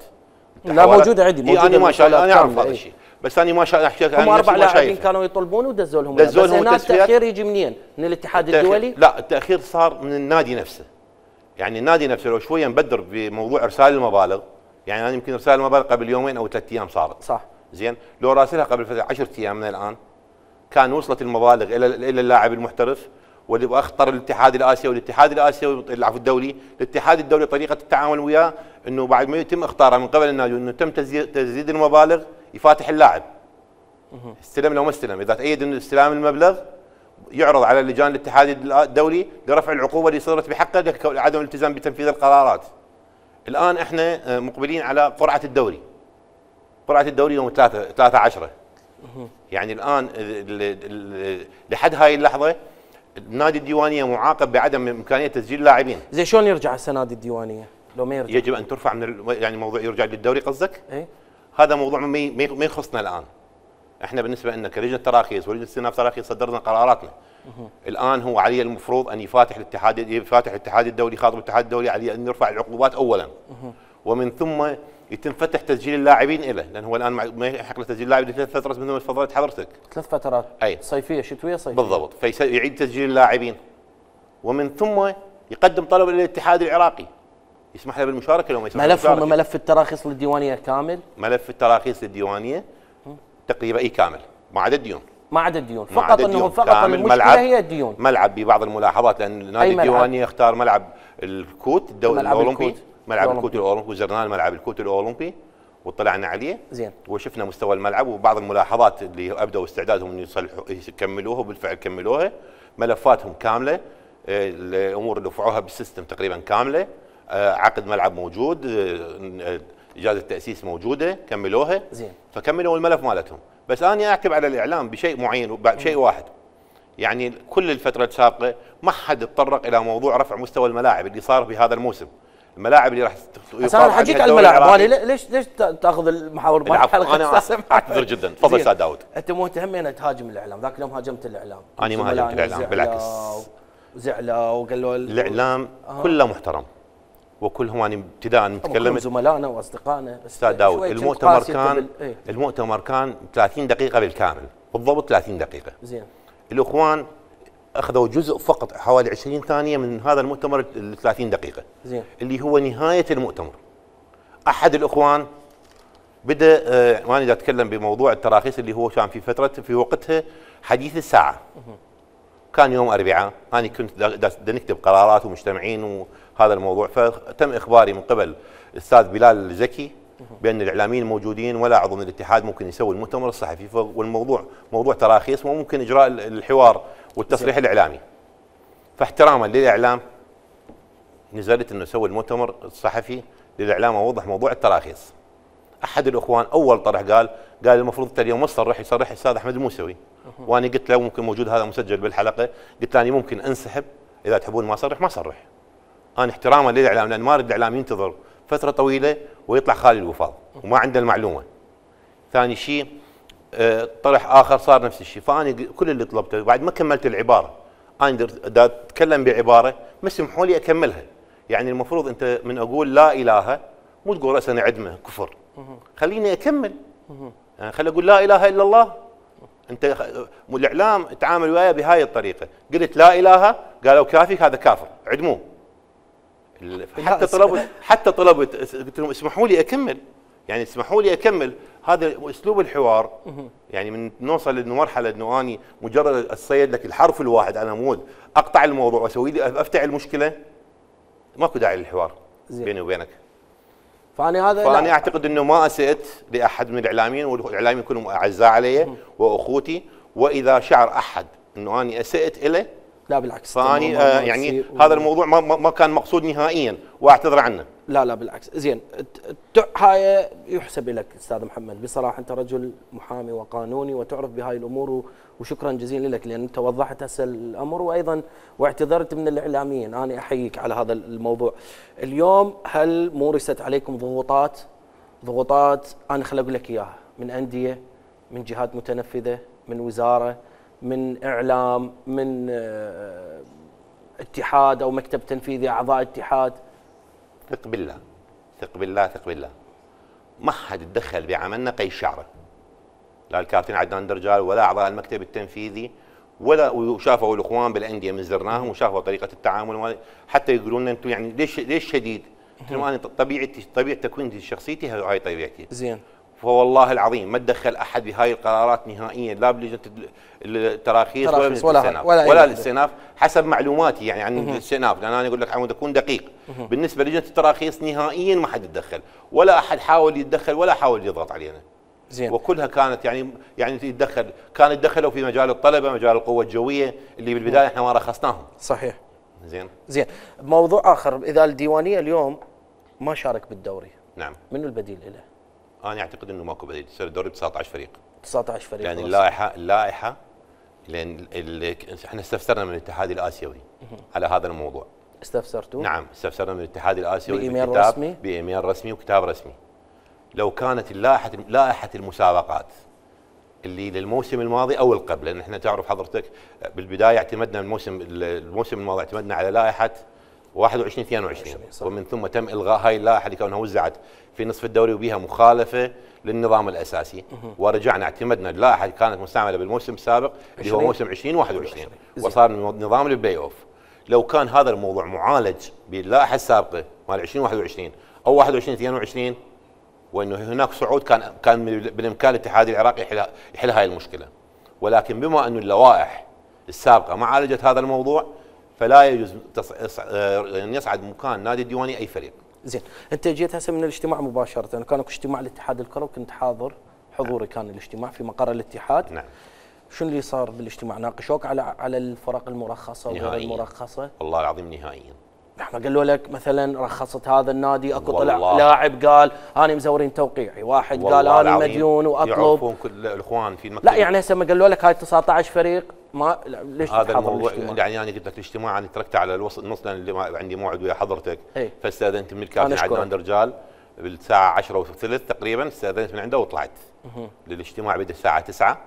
لا موجوده عندي، موجوده انا ما شايف، انا اعرف هذا الشيء، بس انا ما شايف. هم اربع لاعبين كانوا يطلبون ودزوا لهم، بس هنا التاخير يجي منين؟ من الاتحاد الدولي؟ لا، التاخير صار من النادي نفسه. يعني النادي نفسه لو شويه مبدر بموضوع ارسال المبالغ، يعني انا يمكن ارسال المبالغ قبل يومين او ثلاث ايام صارت. صح. زين، لو راسلها قبل فتره عشرة ايام من الان كان وصلت المبالغ الى الى اللاعب المحترف، واللي اخطر الاتحاد الاسيوي والاتحاد الاسيوي العفو الدولي، الاتحاد الدولي طريقه التعامل وياه انه بعد ما يتم اختاره من قبل النادي انه تم تسديد المبالغ يفاتح اللاعب. استلم لو ما استلم، اذا تأيد انه استلام المبلغ يعرض على لجان الاتحاد الدولي لرفع العقوبه اللي صدرت بحقه لعدم الالتزام بتنفيذ القرارات. الان احنا مقبلين على قرعه الدوري. قرعه الدوري يوم ثلاثة ثلاثة عشرة. يعني الان لحد هاي اللحظه النادي الديوانيه معاقب بعدم امكانيه تسجيل لاعبين. زين شلون يرجع هسه نادي الديوانيه؟ لو ما يرجع يجب ان ترفع من ال... يعني موضوع يرجع للدوري قصدك؟ اي هذا موضوع ما ما يخصنا الان. احنا بالنسبه لنا كلجنه تراخيص ولجنه استئناف تراخيص صدرنا قراراتنا. الان هو عليه المفروض ان يفاتح الاتحاد يفاتح الاتحاد الدولي، خاطب الاتحاد الدولي عليه ان يرفع العقوبات اولا. ومن ثم يتم فتح تسجيل اللاعبين له، لان هو الان ما يحق له تسجيل اللاعب لثلاث فترات مثل ما تفضلت حضرتك. ثلاث فترات. اي صيفيه شتويه صيفيه. بالضبط، فيعيد تسجيل اللاعبين. ومن ثم يقدم طلب للاتحاد العراقي يسمح له بالمشاركه لو ما يسمح له بالمشاركه. ملفهم ملف التراخيص للديوانيه كامل؟ ملف التراخيص للديوانيه تقريبا اي كامل ما عدا الديون. ما عدا الديون، فقط انه فقط المشكله هي الديون. ملعب ببعض الملاحظات، لان نادي الديوانيه اختار ملعب الكوت الدولي الاولمبي، ملعب الكوت الاولمبي، وزرنا ملعب الكوت الاولمبي واطلعنا عليه. زين. وشفنا مستوى الملعب وبعض الملاحظات اللي ابدوا استعدادهم ان يصلحوا يكملوها وبالفعل كملوها. ملفاتهم كامله، الامور اللي رفعوها بالسيستم تقريبا كامله، عقد ملعب موجود، اجازه تاسيس موجوده، كملوها. زين. فكملوا الملف مالتهم. بس انا اعتب على الاعلام بشيء معين وبشيء واحد. يعني كل الفتره السابقه ما حد تطرق الى موضوع رفع مستوى الملاعب اللي صار في هذا الموسم. الملاعب اللي راح بس انا حجيك على الملاعب، ليش ليش تاخذ المحاور مال الحلقه؟ انا اعتذر جدا، تفضل استاذ داود. انت مهتم ان تهاجم الاعلام، ذاك اليوم هاجمت الاعلام. انا ما هاجمت الاعلام، بالعكس. زعلوا وقالوا الاعلام آه. كله محترم وكلهم يعني ابتداء نتكلم زملائنا واصدقائنا. استاذ داود المؤتمر كان بال... ايه؟ المؤتمر كان ثلاثين دقيقه بالكامل، بالضبط ثلاثين دقيقه. زين. الاخوان اخذوا جزء فقط حوالي عشرين ثانيه من هذا المؤتمر ال ثلاثين دقيقه. زين. اللي هو نهايه المؤتمر. احد الاخوان بدا آه وانا دا اتكلم بموضوع التراخيص اللي هو كان في فتره في وقتها حديث الساعه. كان يوم اربعاء، انا كنت دا نكتب قرارات ومجتمعين وهذا الموضوع، فتم اخباري من قبل الاستاذ بلال الزكي بان الاعلاميين الموجودين ولا عضو من الاتحاد ممكن يسوي المؤتمر الصحفي، والموضوع موضوع تراخيص وممكن اجراء الحوار والتصريح الاعلامي. فاحتراما للاعلام نزلت انه اسوي المؤتمر الصحفي للاعلام واوضح موضوع التراخيص. احد الاخوان اول طرح قال قال المفروض انت اليوم ما تصرح، يصرح الاستاذ احمد الموسوي. وانا قلت له ممكن موجود هذا مسجل بالحلقه، قلت له انا ممكن انسحب اذا تحبون ما اصرح ما اصرح. انا احتراما للاعلام، لان ما اريد الاعلام ينتظر فتره طويله ويطلع خالي الوفاض وما عنده المعلومه. ثاني شيء اه طرح اخر صار نفس الشيء، فانا كل اللي طلبته بعد ما كملت العباره انا دا اتكلم بعباره ما سمحوا لي اكملها. يعني المفروض انت من اقول لا اله مو تقول راسا نعدمه كفر، خليني اكمل. يعني خلي اقول لا اله الا الله. انت الاعلام تعامل وياي بهاي الطريقه، قلت لا اله قالوا كافي هذا كافر عدموه. حتى طلبوا حتى طلبوا قلت لهم اسمحوا لي اكمل، يعني اسمحوا لي اكمل. هذا اسلوب الحوار. يعني من نوصل لمرحله انه اني مجرد اصيد لك الحرف الواحد على مود اقطع الموضوع واسوي لي افتح المشكله، ماكو داعي للحوار بيني وبينك. فانا هذا فانا اعتقد انه ما اسئت لاحد من الاعلاميين، والاعلاميين كلهم اعزاء علي واخوتي، واذا شعر احد انه اني اسئت له لا بالعكس. فاني آه يعني هذا الموضوع ما, ما كان مقصود نهائيا واعتذر عنه. لا لا بالعكس. زين هاي يحسب لك استاذ محمد بصراحه، انت رجل محامي وقانوني وتعرف بهاي الامور، وشكرا جزيلا لك لان انت وضحت هسه الامر، وايضا واعتذرت من الاعلاميين. انا احييك على هذا الموضوع. اليوم هل مورست عليكم ضغوطات ضغوطات انا خل اقول لك اياها من انديه، من جهات متنفذه، من وزاره، من اعلام، من اه اتحاد او مكتب تنفيذي، اعضاء اتحاد؟ ثق بالله ثق بالله ثق بالله ما حد تدخل بعملنا قي شعره، لا الكابتن عدنان درجال ولا اعضاء المكتب التنفيذي، ولا وشافوا الاخوان بالانديه من زرناهم وشافوا طريقه التعامل، حتى يقولون لنا انتم يعني ليش ليش شديد؟ قلت لهم انا طبيعتي طبيعه تكوين شخصيتي هاي طبيعتي. زين. فوالله العظيم ما تدخل احد بهاي القرارات نهائيا، لا بلجنه التراخيص ولا الاستئناف ولا, ولا الاستئناف حسب معلوماتي يعني عن الاستئناف، لان انا اقول لك عمود اكون دقيق. بالنسبه لجنه التراخيص نهائيا ما حد يتدخل، ولا احد حاول يتدخل ولا حاول يضغط علينا. زين. وكلها كانت يعني يعني يتدخل، كان يتدخلوا في مجال الطلبه، مجال القوه الجويه اللي بالبدايه احنا ما رخصناهم. صحيح. زين. زين. موضوع اخر، اذا الديوانيه اليوم ما شارك بالدوري، نعم، منو البديل له؟ انا اعتقد انه ماكو بديل، يصير الدوري ب تسعة عشر فريق. تسعة عشر فريق. يعني اللائحه اللائحه لان احنا استفسرنا من الاتحاد الاسيوي على هذا الموضوع. استفسرتوا؟ نعم استفسرنا من الاتحاد الاسيوي بايميل رسمي؟ بايميل رسمي وكتاب رسمي. لو كانت اللائحه لائحه المسابقات اللي للموسم الماضي او القبل، لان احنا تعرف حضرتك بالبدايه اعتمدنا الموسم الموسم الماضي اعتمدنا على لائحه واحد وعشرين اثنين وعشرين، ومن ثم تم الغاء هاي اللائحه لكونها وزعت في نصف الدوري وبها مخالفه للنظام الاساسي، ورجعنا اعتمدنا اللائحه اللي كانت مستعمله بالموسم السابق اللي هو موسم عشرين واحد وعشرين، وصار نظام البلاي اوف. لو كان هذا الموضوع معالج باللائحه السابقه مال عشرين واحد وعشرين او واحد وعشرين اثنين وعشرين، وانه هناك صعود، كان كان بالامكان الاتحاد العراقي يحل يحل هاي المشكله. ولكن بما انه اللوائح السابقه ما عالجت هذا الموضوع، فلا يجوز ان يصعد مكان نادي الديواني اي فريق. زين، انت جيت هسه من الاجتماع مباشره، كان اكو اجتماع لاتحاد الكره وكنت حاضر، حضوري كان الاجتماع في مقر الاتحاد. نعم. شنو اللي صار بالاجتماع؟ ناقشوك على على الفرق المرخصه وغير المرخصه؟ والله العظيم نهائيا. احنا قالوا لك مثلا رخصت هذا النادي، اكو طلع لاعب قال انا مزورين توقيعي، واحد قال انا مديون واطلب. يعرفون كل الاخوان في المكتب. لا يعني هسه ما قالوا لك هاي تسعة عشر فريق، ما ليش هذا الموضوع يعني انا قلت لك الاجتماع انا تركته على الوسط النص لان اللي عندي موعد ويا حضرتك، فاستاذنت من الكابتن عدنان درجال بالساعه عشرة وثلث تقريبا، استاذنت من عنده وطلعت. للاجتماع بدا الساعه تسعة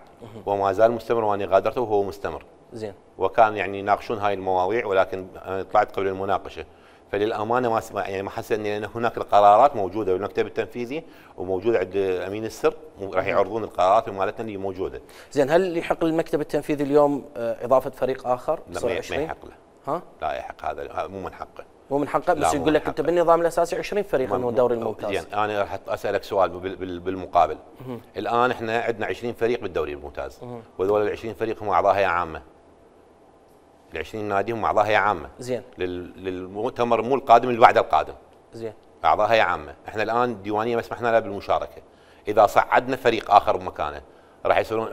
وما زال مستمر وانا غادرته وهو مستمر. زين. وكان يعني يناقشون هاي المواضيع، ولكن انا طلعت قبل المناقشه. فللامانه ما يعني ما حسيت ان هناك القرارات موجوده بالمكتب التنفيذي وموجوده عند امين السر، راح يعرضون القرارات مالتنا اللي موجوده. زين، هل يحق للمكتب التنفيذي اليوم اضافه فريق اخر؟ لا ما يحق له. ها؟ لا يحق، هذا مو من حقه. مو من حقه، بس يقول لك انت بالنظام الاساسي عشرين فريق انه الدوري الممتاز. زين، انا راح اسالك سؤال بالمقابل. الان احنا عندنا عشرين فريق بالدوري الممتاز، وهذول ال عشرين فريق هم اعضاء هيئه عامه. ال عشرين نادي هم اعضاء هيئه عامه. زين. للمؤتمر مو القادم اللي بعد القادم. زين. اعضاء هيئه عامه، احنا الان الديوانيه ما سمحنا لها بالمشاركه. اذا صعدنا فريق اخر بمكانه راح يصيرون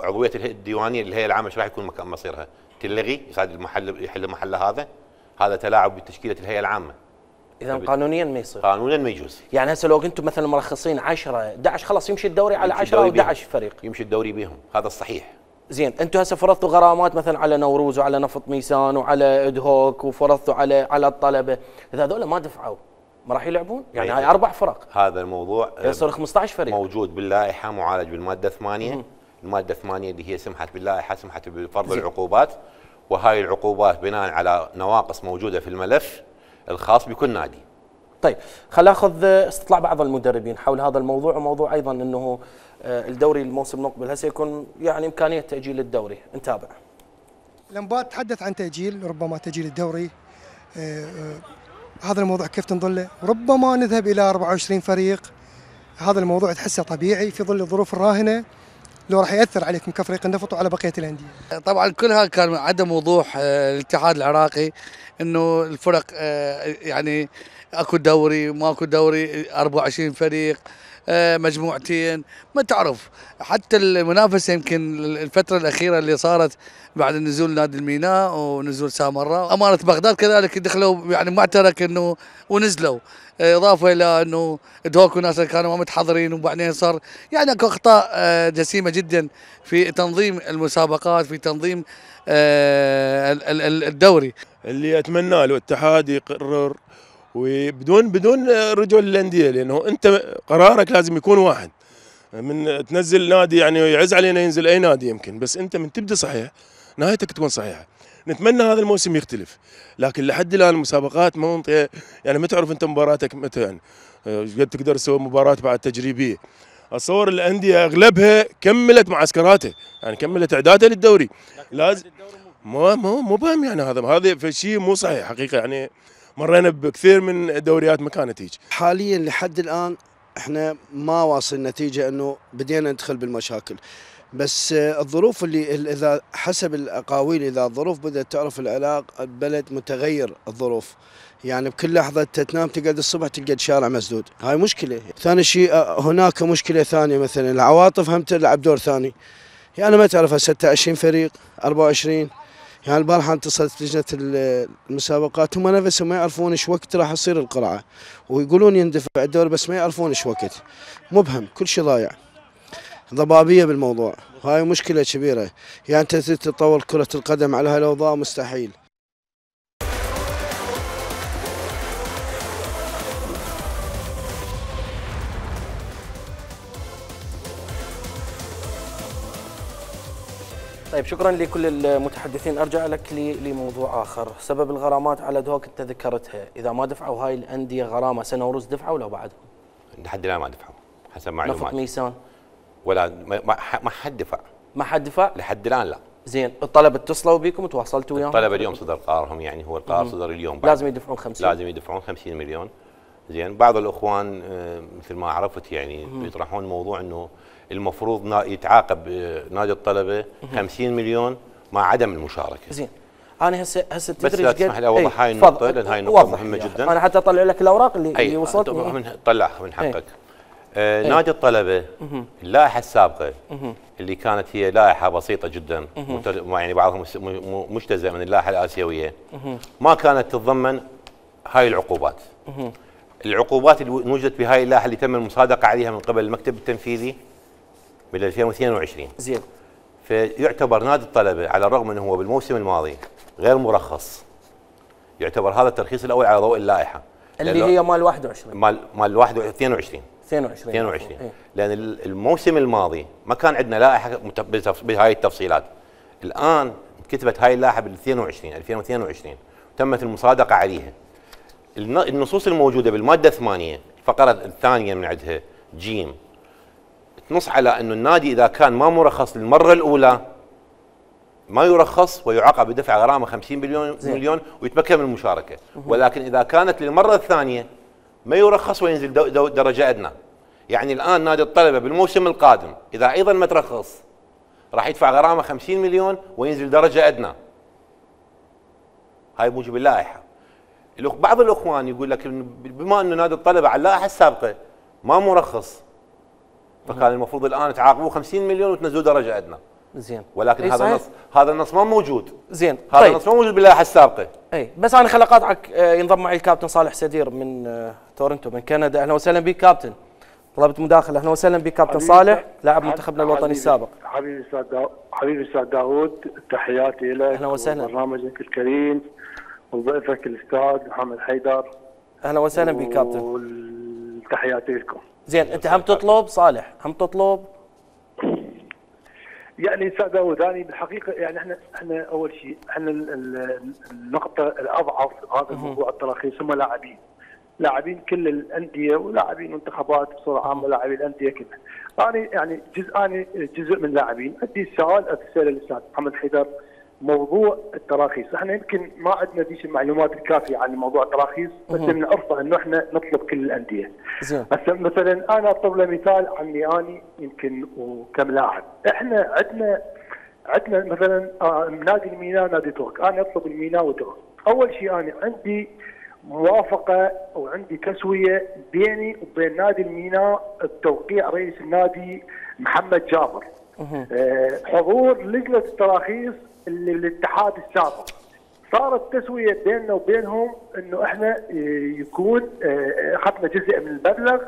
عضويه الديوانيه الهيئه العامه ايش راح يكون مكان مصيرها؟ تلغي، يصعد المحل يحل محل هذا؟ هذا تلاعب بتشكيله الهيئه العامه. اذا قانونيا ما يصير. قانونا ما يجوز. يعني هسه لو انتم مثلا مرخصين عشرة احد عشر خلاص يمشي الدوري على عشرة او احد عشر فريق. يمشي الدوري بهم، هذا الصحيح. زين، انتم هسه فرضتوا غرامات مثلا على نوروز وعلى نفط ميسان وعلى ادهوك وفرضتوا على على الطلبه، اذا هذول ما دفعوا ما راح يلعبون؟ يعني هاي اربع فرق. هذا الموضوع يصير خمسة عشر فريق. موجود باللائحه، معالج بالماده ثمانية. الماده ثمانية اللي هي سمحت باللائحه، سمحت بفرض العقوبات، وهاي العقوبات بناء على نواقص موجوده في الملف الخاص بكل نادي. طيب خل اخذ استطلاع بعض المدربين حول هذا الموضوع، وموضوع ايضا انه الدوري الموسم المقبل هل سيكون يعني امكانيه تاجيل الدوري، نتابع. الانباء تحدث عن تاجيل، ربما تاجيل الدوري. آه آه هذا الموضوع كيف تنظله؟ ربما نذهب الى أربعة وعشرين فريق. هذا الموضوع تحسه طبيعي في ظل الظروف الراهنه، لو راح ياثر عليكم كفريق النفط وعلى بقيه الانديه. طبعا كلها كان عدم وضوح الاتحاد العراقي انه الفرق يعني اكو دوري ماكو دوري، أربعة وعشرين فريق مجموعتين، ما تعرف. حتى المنافسه يمكن الفتره الاخيره اللي صارت بعد نزول نادي الميناء ونزول سامراء، امانه بغداد كذلك دخلوا يعني معترك انه ونزلوا، اضافه الى انه دوك وناس كانوا ما متحضرين، وبعدين صار يعني اكو اخطاء جسيمه جدا في تنظيم المسابقات، في تنظيم الدوري. اللي اتمنى له الاتحاد يقرر وبدون بدون رجوع للانديه، لانه انت قرارك لازم يكون واحد. من تنزل نادي يعني يعز علينا ينزل اي نادي يمكن، بس انت من تبدا صحيح نهايتك تكون صحيحه. نتمنى هذا الموسم يختلف، لكن لحد الان المسابقات ما منطقه يعني ما تعرف انت مباراتك متى، يعني قد تقدر تسوي مباراه بعد تجريبيه. اتصور الانديه اغلبها كملت معسكراته، يعني كملت اعدادها للدوري. لازم مو مو مو فاهم يعني هذا هذا شيء مو صحيح حقيقه. يعني مرينا بكثير من دوريات ما كانت هيك. حاليا لحد الان احنا ما واصل نتيجه انه بدينا ندخل بالمشاكل، بس الظروف اللي اذا حسب الاقاويل اذا الظروف بدات تعرف العراق البلد متغير الظروف، يعني بكل لحظه تنام تقعد الصبح تلقى الشارع مسدود، هاي مشكله. ثاني شيء هناك مشكله ثانيه، مثلا العواطف هم تلعب دور ثاني. يعني ما تعرف ستة وعشرين فريق أربعة وعشرين، يعني البارحه اتصلت لجنه المسابقات هم نفسهم ما يعرفون ايش وقت راح تصير القرعه، ويقولون يندفع الدوري بس ما يعرفون ايش وقت، مبهم كل شيء ضايع، ضبابيه بالموضوع، هاي مشكله كبيره. يعني انت تطور كره القدم على هالاوضاع مستحيل. طيب شكرا لكل المتحدثين. ارجع لك لموضوع اخر، سبب الغرامات على دوك انت ذكرتها، اذا ما دفعوا هاي الانديه غرامه سنه ونص دفعوا ولا بعدهم؟ لحد الان ما دفعوا حسب معلومات. نفط ميسان ولا ما, ما حد دفع. ما حد دفع؟ لحد الان لا. زين، الطلبه اتصلوا بكم وتواصلتوا وياهم؟ الطلبه اليوم صدر قرارهم، يعني هو القرار صدر اليوم. لازم يدفعون خمسين؟ لازم يدفعون خمسين مليون. زين، بعض الاخوان مثل ما عرفت يعني يطرحون موضوع انه المفروض يتعاقب نادي الطلبه خمسين مليون مع عدم المشاركه. زين، انا هسه هسه بس لا تسمح لي اوضح هاي النقطه لان هاي نقطه مهمه جدا. انا حتى اطلع لك الاوراق اللي, اللي وصلتني. من طلع من حقك. آه نادي الطلبه اللائحه السابقه اللي كانت هي لائحه بسيطه جدا، يعني بعضها مجتزأ من اللائحه الاسيويه، ما كانت تتضمن هاي العقوبات. العقوبات اللي وجدت بهاي اللائحه اللي تم المصادقه عليها من قبل المكتب التنفيذي بال ألفين واثنين وعشرين. زين. فيعتبر نادي الطلبه على الرغم انه هو بالموسم الماضي غير مرخص، يعتبر هذا الترخيص الاول على ضوء اللائحه اللي هي مال واحد وعشرين مال مال واحد اثنين وعشرين اثنين وعشرين اثنين وعشرين إيه؟ لان الموسم الماضي ما كان عندنا لائحه بهاي التفصيلات. الان كتبت هاي اللائحه بال ألفين واثنين ألفين واثنين وعشرين وتمت المصادقه عليها. النصوص الموجوده بالماده ثمانية الفقره الثانيه من عندها جيم تنص على انه النادي اذا كان ما مرخص للمره الاولى ما يرخص ويعاقب بدفع غرامه خمسين مليون مليون ويتمكن من المشاركه، ولكن اذا كانت للمره الثانيه ما يرخص وينزل دو دو درجه ادنى. يعني الان نادي الطلبه بالموسم القادم اذا ايضا ما ترخص راح يدفع غرامه خمسين مليون وينزل درجه ادنى. هاي موجب اللائحه. بعض الاخوان يقول لك بما انه نادي الطلبه على اللائحه السابقه ما مرخص فكان المفروض الان تعاقبوه خمسين مليون وتنزلوا درجه ادنى. زين، ولكن هذا النص هذا النص ما موجود. زين، هذا طيب. النص ما موجود باللائحه السابقه. اي بس انا خل اقاطعك. ينضم معي الكابتن صالح سدير من تورنتو من كندا. اهلا وسهلا بك كابتن. طلبت مداخله. اهلا وسهلا بك كابتن صالح لاعب منتخبنا الوطني السابق. حبيبي استاذ داود حبيبي استاذ داود تحياتي لك. اهلا وسهلا. برنامجك الكريم وضيفك الاستاذ محمد حيدر. اهلا وسهلا بك كابتن. وتحياتي لكم. زين، انت هم تطلب صالح هم تطلب يعني استاذ داوود انا بالحقيقه يعني احنا احنا اول شيء احنا النقطه الاضعف هذا الموضوع التراخيص هم لاعبين. لاعبين كل الانديه ولاعبين منتخبات بصوره عامه، لاعبين الانديه كلها. انا يعني جزء انا جزء من لاعبين، عندي السؤال اساله للاستاذ محمد حيدر موضوع التراخيص، احنا يمكن ما عندنا ديش المعلومات الكافيه عن موضوع التراخيص، بس بنعرفه انه احنا نطلب كل الانديه. زين. هسه مثلا انا اضرب له مثال عني اني يمكن وكم لاعب، احنا عندنا عندنا مثلا آه نادي الميناء نادي ترك، انا اطلب الميناء وترك، اول شيء انا عندي موافقه وعندي تسويه بيني وبين نادي الميناء بتوقيع رئيس النادي محمد جابر. آه حضور لجنه التراخيص اللي الاتحاد السابق، صارت تسويه بيننا وبينهم انه احنا يكون اخذنا جزء من المبلغ،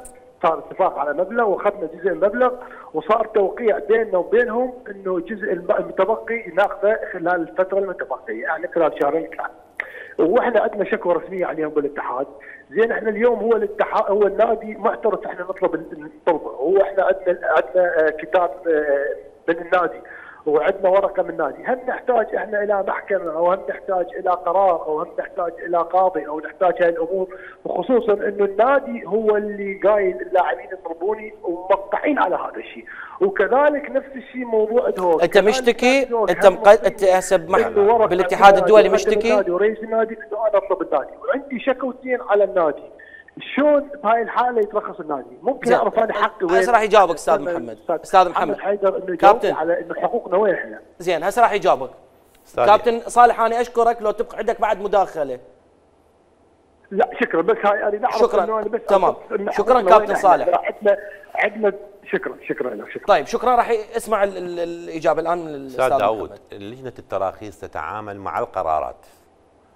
صار اتفاق على مبلغ واخذنا جزء من المبلغ، وصار توقيع بيننا وبينهم انه الجزء المتبقي ناخذه خلال الفتره المتبقيه، يعني خلال شهرين ثلاثه. واحنا عندنا شكوى رسميه عليهم بالاتحاد، زين احنا اليوم هو الاتحاد هو النادي معترف احنا نطلب الطلبه، هو احنا عندنا عندنا كتاب من النادي وعندنا ورقه من النادي، هل نحتاج احنا الى محكمه او هل نحتاج الى قرار او هل نحتاج الى قاضي او نحتاج هاي الامور، وخصوصا انه النادي هو اللي قايل اللاعبين يطلبوني وموقعين على هذا الشيء، وكذلك نفس الشيء موضوع دهوك. انت مشتكي انت مقد... انت هسه بالاتحاد الدولي مشتكي ورئيس النادي انه انا اطلب النادي، وعندي شكوتين على النادي. شلون بهاي الحاله يترخص النادي؟ ممكن اعرف انا حقي وين؟ هسه راح يجاوبك استاذ محمد. استاذ محمد حيدر انه يجاوب على انه حقوقنا وين احنا. زين هسه راح يجاوبك. كابتن صالح انا اشكرك، لو تبقى عندك بعد مداخله. لا شكرا، بس هاي انا نعرف شكرا انه انا بس تمام. شكرا كابتن صالح. عندنا عندنا شكرا شكرا لك شكرا. طيب شكرا، راح اسمع ال ال الاجابه الان من الاستاذ استاذ داوود. لجنه التراخيص تتعامل مع القرارات.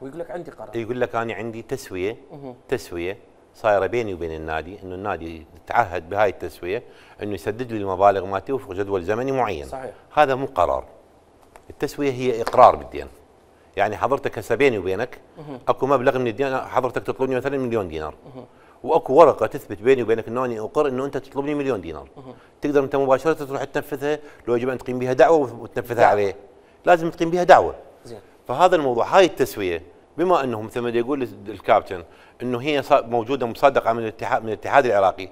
ويقول لك عندي قرار. يقول لك انا عندي تسويه تسويه صايره بيني وبين النادي، انه النادي تعهد بهاي التسويه انه يسدد لي المبالغ مالتي وفق جدول زمني معين. صحيح. هذا مو قرار. التسويه هي اقرار بالدين. يعني حضرتك هسه بيني وبينك اكو مبلغ من الدين، حضرتك تطلبني مثلا مليون دينار. واكو ورقه تثبت بيني وبينك انه انا اقر انه انت تطلبني مليون دينار. تقدر انت مباشره تروح تنفذها، لو يجب ان تقيم بها دعوه وتنفذها دعوة. عليه. لازم تقيم بها دعوه. زين. فهذا الموضوع، هاي التسويه بما انه مثل ما يقول الكابتن انه هي موجوده مصدقه من الاتحاد من الاتحاد العراقي،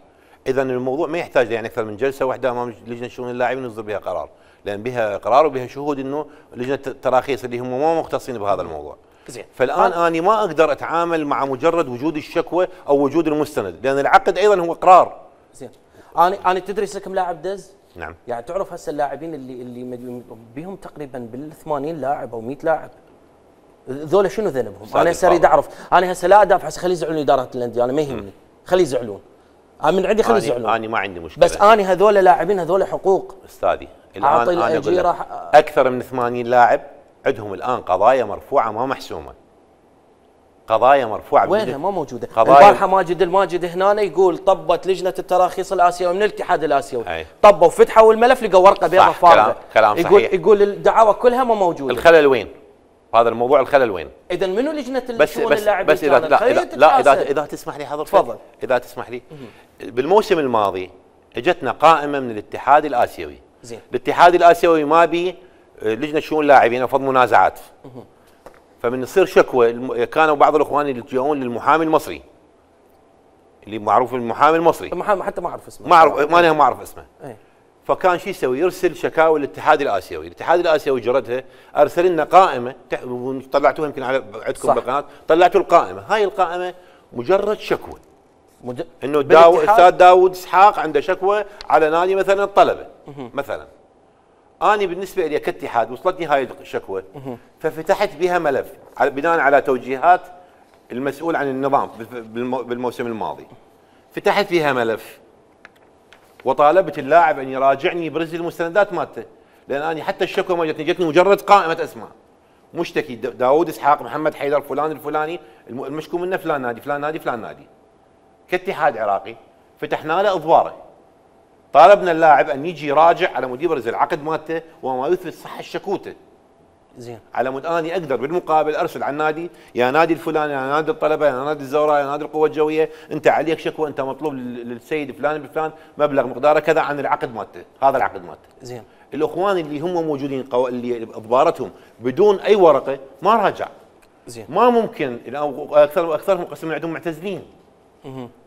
اذا الموضوع ما يحتاج يعني اكثر من جلسه واحده امام لجنه شؤون اللاعبين يصدر بها قرار، لان بها قرار وبها شهود انه لجنه التراخيص اللي هم ما مختصين بهذا الموضوع. زين. فالان آه. انا ما اقدر اتعامل مع مجرد وجود الشكوى او وجود المستند، لان العقد ايضا هو قرار. زين. انا انا تدري كم لاعب دز؟ نعم. يعني تعرف هسه اللاعبين اللي اللي بيهم تقريبا بال ثمانين لاعب او مئة لاعب، ذولا شنو ذنبهم؟ انا هسه اريد اعرف، انا هسه لا ادافع، هسه خلي يزعلون اداره الانديه، انا ما يهمني، خلي يزعلون. انا من عندي خلي يزعلون. انا ما عندي مشكله، بس انا هذول لاعبين هذول حقوق استاذي. الان انا اقول لك اكثر من ثمانين لاعب عندهم الان قضايا مرفوعه ما محسومه. قضايا مرفوعه وينها ما موجوده؟ البارحه ماجد الماجد هنا يقول طبت لجنه التراخيص الاسيوي من الاتحاد الاسيوي، طبوا فتحوا الملف لقوا ورقه بيضاء فارغه. كلام يقول صحيح. يقول الدعاوى كلها ما موجوده. الخلل وين؟ هذا الموضوع الخلل وين؟ اذا منو لجنه الشؤون اللاعبين؟ بس اذا لا اذا, لا اذا اذا تسمح لي حضرتك، تفضل. اذا تسمح لي، بالموسم الماضي اجتنا قائمه من الاتحاد الاسيوي. زين. الاتحاد الاسيوي ما بي لجنه شؤون اللاعبين افضل منازعات. فمن يصير شكوى، كانوا بعض الاخوان يلجؤون للمحامي المصري اللي معروف المحامي المصري. المحامي حتى ما اعرف اسمه. ما اعرف ما انا ما اعرف اسمه. ايه. فكان شو يسوي؟ يرسل شكاوى للاتحاد الاسيوي، الاتحاد الاسيوي جردها، ارسل لنا قائمه طلعتوها يمكن على عندكم بالقناه، طلعتوا القائمه، هاي القائمه مجرد شكوى. مج... انه داو... استاذ داوود اسحاق عنده شكوى على نادي مثلا الطلبه مثلا. أنا بالنسبة لي كاتحاد وصلتني هاي الشكوى، ففتحت بها ملف بناء على توجيهات المسؤول عن النظام بالموسم الماضي. فتحت فيها ملف وطالبت اللاعب ان يراجعني برز المستندات مالته، لان انا حتى الشكوى ما جتني، جتني مجرد قائمه اسماء. مشتكي داوود اسحاق، محمد حيدر، فلان الفلاني، المشكو منه فلان نادي فلان نادي فلان نادي. كاتحاد عراقي فتحنا له اضواره. طالبنا اللاعب ان يجي يراجع على مود يبرز العقد مالته وما يثبت صحه شكوته. زين. على مود اني اقدر بالمقابل ارسل على النادي، يا نادي الفلاني، يا نادي الطلبه، يا نادي الزوراء، يا نادي القوه الجويه، انت عليك شكوى، انت مطلوب للسيد فلان بفلان مبلغ مقداره كذا عن العقد مالته، هذا العقد مالته. زين. الاخوان اللي هم موجودين قو... اللي اضبارتهم بدون اي ورقه ما راجع. زين. ما ممكن اكثر اكثرهم قسم عندهم معتزلين.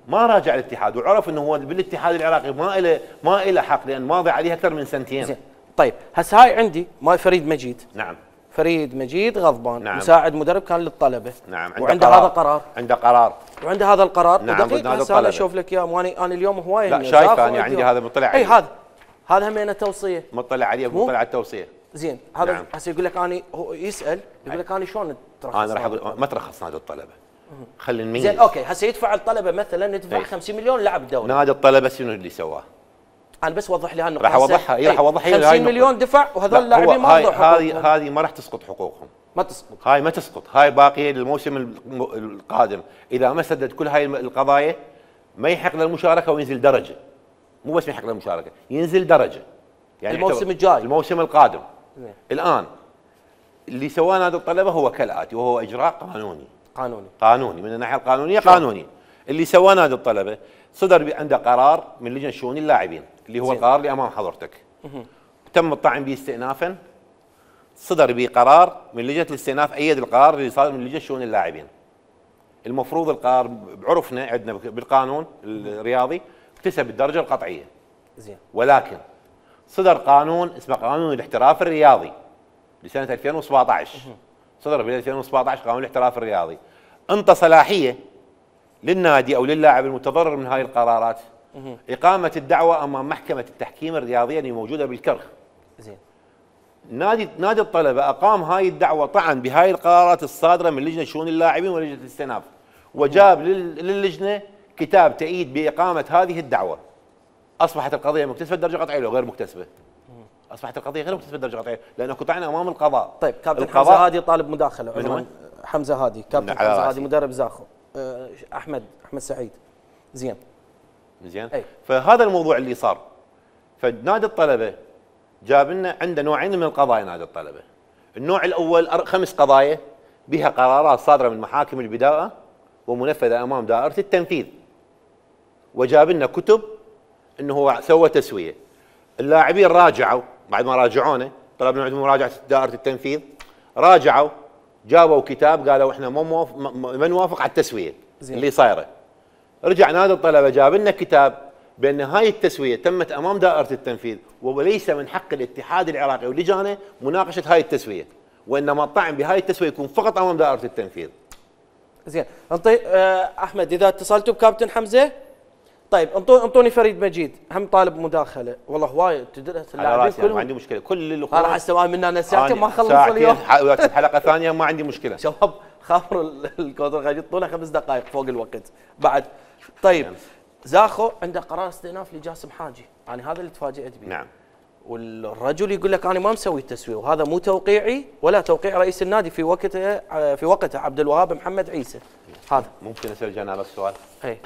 ما راجع الاتحاد وعرف انه هو بالاتحاد العراقي ما له ما له حق لان ماضي عليه اكثر من سنتين. زين. طيب هسه هاي عندي ماي فريد مجيد. نعم. فريد مجيد غضبان. نعم. مساعد مدرب كان للطلبه. نعم. وعنده هذا قرار. عنده قرار. وعنده هذا القرار. نعم. ودقيقه هسه انا اشوف لك اياه ماني انا اليوم هوايه لا شايف انا عندي هذا مطلع عليه. اي هذا هذا همينه توصيه. مطلع عليه مطلع على التوصيه. زين هذا نعم. هسه يقول لك انا هو يسال يقول لك انا شلون ترخص؟ انا راح ما ترخص نادي الطلبه. خلي نميز. زين اوكي هسه يدفع الطلبه مثلا ندفع خمسين مليون لاعب الدوري. نادي الطلبه شنو اللي سواه؟ انا بس وضح لي هالنقطه. راح اوضحها اي راح اوضحها خمسين مليون دفع وهذول اللاعبين ما اخذوا حقوقهم. هذه هذه ما راح تسقط حقوقهم. ما تسقط. هاي ما تسقط، هاي باقيه للموسم القادم، اذا ما سدد كل هاي القضايا ما يحق له المشاركه وينزل درجه. مو بس ما يحق له المشاركه، ينزل درجه. يعني الموسم الجاي. الموسم القادم. مم. الان اللي سواه نادي الطلبه هو كالاتي وهو اجراء قانوني. قانوني. قانوني من الناحيه القانونيه قانوني. اللي سواه نادي الطلبه صدر عنده قرار من لجنه شؤون اللاعبين اللي هو زين. القرار اللي امام حضرتك. مه. تم الطعن به استئنافا. صدر به قرار من لجنه الاستئناف ايد القرار اللي صادر من لجنه شؤون اللاعبين. المفروض القرار بعرفنا عندنا بالقانون الرياضي اكتسب الدرجه القطعيه. زين. ولكن صدر قانون اسمه قانون الاحتراف الرياضي لسنه ألفين وسبعطعش. مه. صدر ب ألفين وسبعطعش قانون الاحتراف الرياضي. انطى صلاحيه للنادي او للاعب المتضرر من هاي القرارات مه. اقامه الدعوه امام محكمه التحكيم الرياضيه اللي موجوده بالكرخ. زين. نادي نادي الطلبه اقام هاي الدعوه طعن بهاي القرارات الصادره من لجنه شؤون اللاعبين ولجنه الاستئناف وجاب للجنه كتاب تأييد باقامه هذه الدعوه. اصبحت القضيه مكتسبه درجه قطعيه لو غير مكتسبه. اصبحت القضيه غير مكتسبه درجه قطعيه لانه قطعنا امام القضاء. طيب كابتن حمزه هادي طالب مداخله. من حمزه هادي كابتن حمزه هادي مدرب زاخو. أه احمد احمد سعيد. زين. زين. فهذا الموضوع اللي صار. فنادي الطلبه جاب لنا عنده نوعين من القضايا نادي الطلبه. النوع الاول خمس قضايا بها قرارات صادره من محاكم البداءه ومنفذه امام دائره التنفيذ. وجاب لنا كتب انه هو سوى تسويه. اللاعبين راجعوا بعد ما راجعونا طلبنا عندهم مراجعه دائره التنفيذ راجعوا جابوا كتاب قالوا احنا ما موافق ما نوافق على التسويه زين. اللي صايره. رجع نادي الطلبه جاب لنا كتاب بان هاي التسويه تمت امام دائره التنفيذ وليس من حق الاتحاد العراقي ولجانه مناقشه هاي التسويه وانما الطعن بهاي التسويه يكون فقط امام دائره التنفيذ. زين انطي أه احمد اذا اتصلتوا بكابتن حمزه طيب انطوني انطوني فريد مجيد هم طالب مداخله والله هوايد تدرس اللاعبين كلهم ما عندي مشكله كل الاخوان راح استوى مني انا ساعتين ما خلص اليوم حلقه ثانيه ما عندي مشكله. شباب خابر الكودر قاعد يطولها خمس دقائق فوق الوقت بعد. طيب زاخو عنده قرار استئناف لجاسم حاجي يعني هذا اللي تفاجئت به. نعم. والرجل يقول لك انا ما مسوي التسويه وهذا مو توقيعي ولا توقيع رئيس النادي في وقته في وقته عبد الوهاب محمد عيسى. هذا ممكن اسال جناب السؤال؟ اي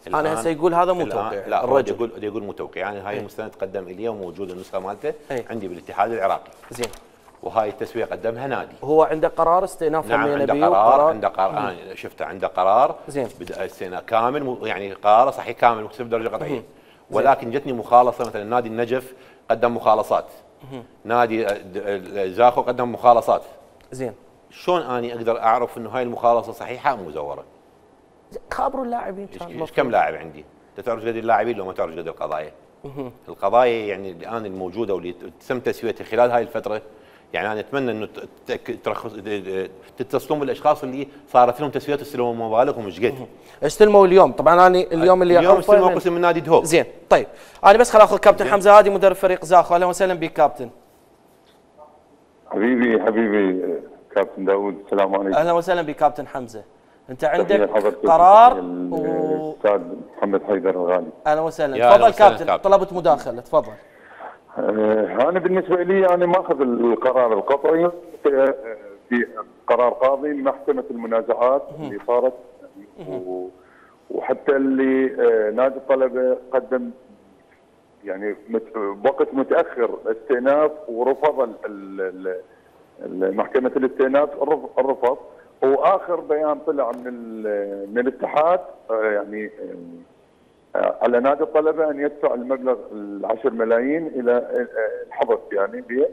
انا هسه يقول هذا مو توقيع. لا الرجل يقول يقول مو توقيع يعني هاي المستند تقدم الي وموجوده النسخه مالته عندي بالاتحاد العراقي. زين. وهاي التسويه قدمها نادي. هو عنده قرار استئناف. نعم عنده قرار عنده قرار انا شفته عنده قرار زين بدا استئناف كامل يعني قرار صحيح كامل مكتسب درجه قطعيه. ولكن جتني مخالصه مثلا نادي النجف قدم مخالصات. نادي زاخو قدم مخالصات. زين. شلون اني اقدر اعرف انه هاي المخالصه صحيحه او مزوره؟ خابروا اللاعبين كان كم لاعب عندي؟ انت تعرف قد اللاعبين لو ما تعرف قد القضايا؟ القضايا يعني الان الموجوده واللي تم تسويتها خلال هاي الفتره يعني انا اتمنى انه ترخص تتصلون بالاشخاص اللي صارت لهم تسويات استلموا مبالغهم مش قد. استلموا اليوم طبعا انا اليوم اللي اليوم استلموا قسم من نادي دهوك. زين طيب انا بس خل اخذ كابتن حمزه هادي مدرب فريق زاخو. اهلا وسهلا بك كابتن. حبيبي حبيبي كابتن داوود السلام عليكم. اهلا وسهلا بك كابتن حمزه. انت عندك قرار الاستاذ محمد حيدر الغالي. اهلا وسهلا تفضل كابتن. كابتن طلبت مداخله تفضل. أه انا بالنسبه لي انا ماخذ القرار القطعي في, في قرار قاضي محكمه المنازعات اللي صارت وحتى اللي نادي الطلبه قدم يعني بوقت متاخر استئناف ورفض محكمه الاستئناف الرفض. واخر بيان طلع من من الاتحاد يعني على نادي الطلبه ان يدفع المبلغ العشر ملايين الى الحظر يعني بيه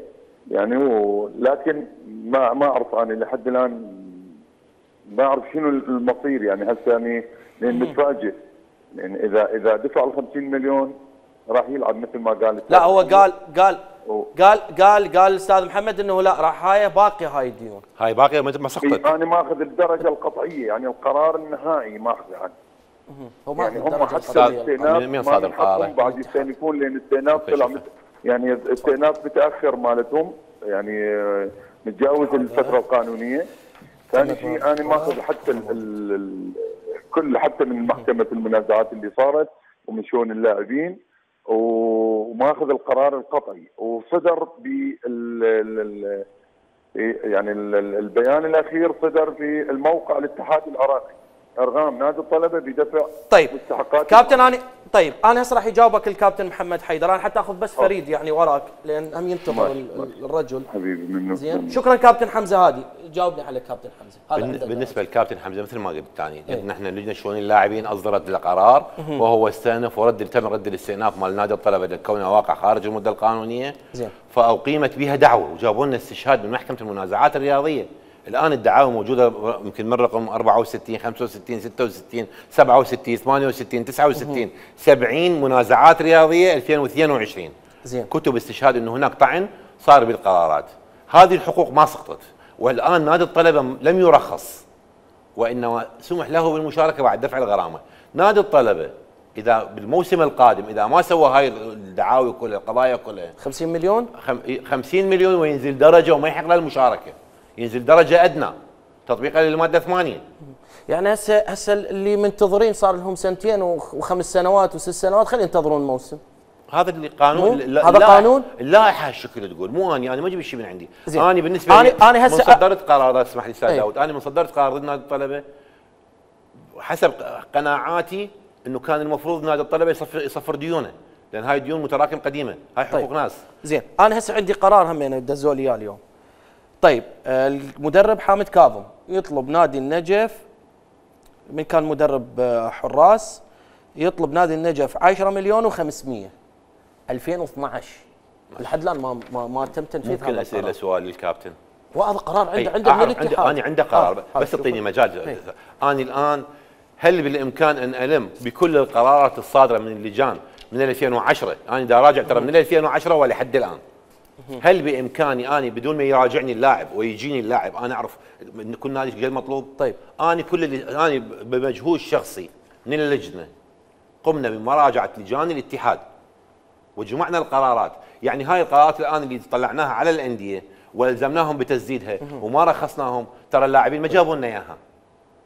يعني ولكن ما ما اعرف انا لحد الان ما اعرف شنو المصير يعني هسه يعني لان متفاجئ لان اذا اذا دفع ال خمسين مليون راح يلعب مثل ما قال. لا هو قال قال قال قال قال الاستاذ محمد انه لا راح هاي باقيه هاي الديون. هاي باقيه ما سقطت. انا ماخذ الدرجه القطعيه يعني القرار النهائي ماخذه عنه. هو يعني هم حتى الاستئناف من صادر القرار؟ بعد يستأنفون لان الاستئناف طلع يعني الاستئناف متاخر مالتهم يعني متجاوز الفتره القانونيه. ثاني شيء انا ماخذ حتى ال ال كل حتى من محكمه المنازعات اللي صارت ومن شؤون اللاعبين وماخذ القرار القطعي وصدر بال يعني البيان الاخير صدر في الموقع الاتحاد العراقي ارغام نادي الطلبه بدفع طيب مستحقات كابتن انا طيب انا هسه راح يجاوبك الكابتن محمد حيدر. انا حتى اخذ بس فريد يعني وراك لان هم ينتظر الرجل حبيبي منه زين. شكرا كابتن حمزه هادي جاوبني على كابتن حمزه. هذا بالنسبه للكابتن حمزه مثل ما قلت ثاني يعني نحن لجنه شؤون اللاعبين اصدرت القرار وهو استأنف ورد تم رد الاستئناف مال نادي الطلبه لكونه واقع خارج المده القانونيه زين. فاقيمت بها دعوه وجابوا لنا استشهاد من محكمه المنازعات الرياضيه. الان الدعاوى موجوده يمكن من رقم أربعة وستين خمسة وستين ستة وستين سبعة وستين ثمانية وستين تسعة وستين سبعين منازعات رياضيه ألفين واثنين وعشرين. زين. كتب استشهاد انه هناك طعن صار بالقرارات. هذه الحقوق ما سقطت والان نادي الطلبه لم يرخص وانما سمح له بالمشاركه بعد دفع الغرامه. نادي الطلبه اذا بالموسم القادم اذا ما سوى هاي الدعاوي كلها القضايا كلها خمسين مليون خمسين مليون وينزل درجه وما يحق له المشاركه ينزل درجه ادنى تطبيقا للماده ثمانية. يعني هسه هسه اللي منتظرين صار لهم سنتين وخمس سنوات وست سنوات خلينا ينتظرون الموسم. هذا اللي قانون هذا قانون اللائحه الشكل تقول مو اني انا ما اجيب شيء من عندي. زين. انا بالنسبه لي انا هسه من صدرت قرارات اسمح لي استاذ ايه. داود انا من صدرت قرار ضد نادي الطلبه حسب قناعاتي انه كان المفروض نادي الطلبه يصفر يصفر ديونه لان هاي ديون متراكم قديمه هاي حقوق طيب. ناس. زين انا هسه عندي قرار همين دزوا لي اياه اليوم. طيب المدرب حامد كاظم يطلب نادي النجف من كان مدرب حراس يطلب نادي النجف عشرة مليون وخمسمية ألفين واثنعش لحد الان ما ما, ما تم تنفيذ هذا القرار. ممكن اسئله سؤال للكابتن. وهذا قرار عنده عنده من الاتحاد. انا عندي قرار آه. بس تعطيني مجال. انا الان هل بالامكان ان الم بكل القرارات الصادره من اللجان من ألفين وعشرة انا دا راجع ترى من ألفين وعشرة ولحد الان هل بامكاني اني بدون ما يراجعني اللاعب ويجيني اللاعب انا اعرف ان كل نادي ايش مطلوب؟ طيب انا كل اللي انا بمجهود شخصي من اللجنه قمنا بمراجعه لجان الاتحاد وجمعنا القرارات، يعني هاي القرارات الان اللي طلعناها على الانديه والزمناهم بتسديدها وما رخصناهم ترى اللاعبين ما جابوا لنا اياها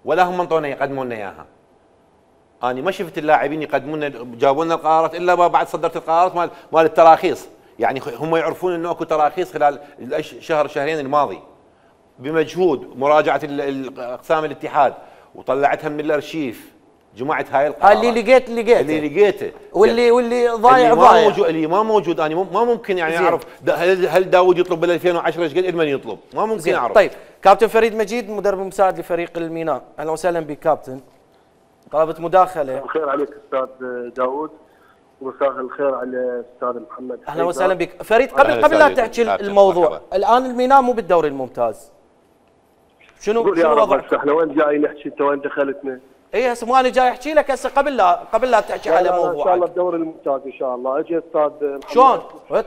ولا هم منطونا يقدموا لنا اياها. انا ما شفت اللاعبين يقدموا لنا جابوا لنا القرارات الا بعد صدرت القرارات مال مال التراخيص، يعني هم يعرفون انه اكو تراخيص خلال الشهر شهرين الماضي بمجهود مراجعه اقسام الاتحاد وطلعتها من الارشيف، جمعت هاي القرارات اللي لقيت لقيته اللي لقيته واللي واللي ضايع اللي ضايع ما موجود اللي ما موجود انا ما ممكن يعني اعرف هل هل داوود يطلب بال ألفين وعشرة ايش قد من يطلب ما ممكن اعرف. طيب كابتن فريد مجيد مدرب مساعد لفريق الميناء، اهلا وسهلا بك كابتن. طلبت مداخله. الخير عليك استاذ داوود ومساء الخير على استاذ محمد. اهلا وسهلا بك فريد. قبل قبل لا تحكي الموضوع مرحبا. الان الميناء مو بالدوري الممتاز، شنو شنو وضعك؟ احنا وين جاي نحكي انت وين دخلتنا؟ اي هسه مو انا جاي احكي لك هسه قبل لا قبل لا تحكي على موضوع ان شاء الله الدوري الممتاز ان شاء الله. اجي استاذ شلون؟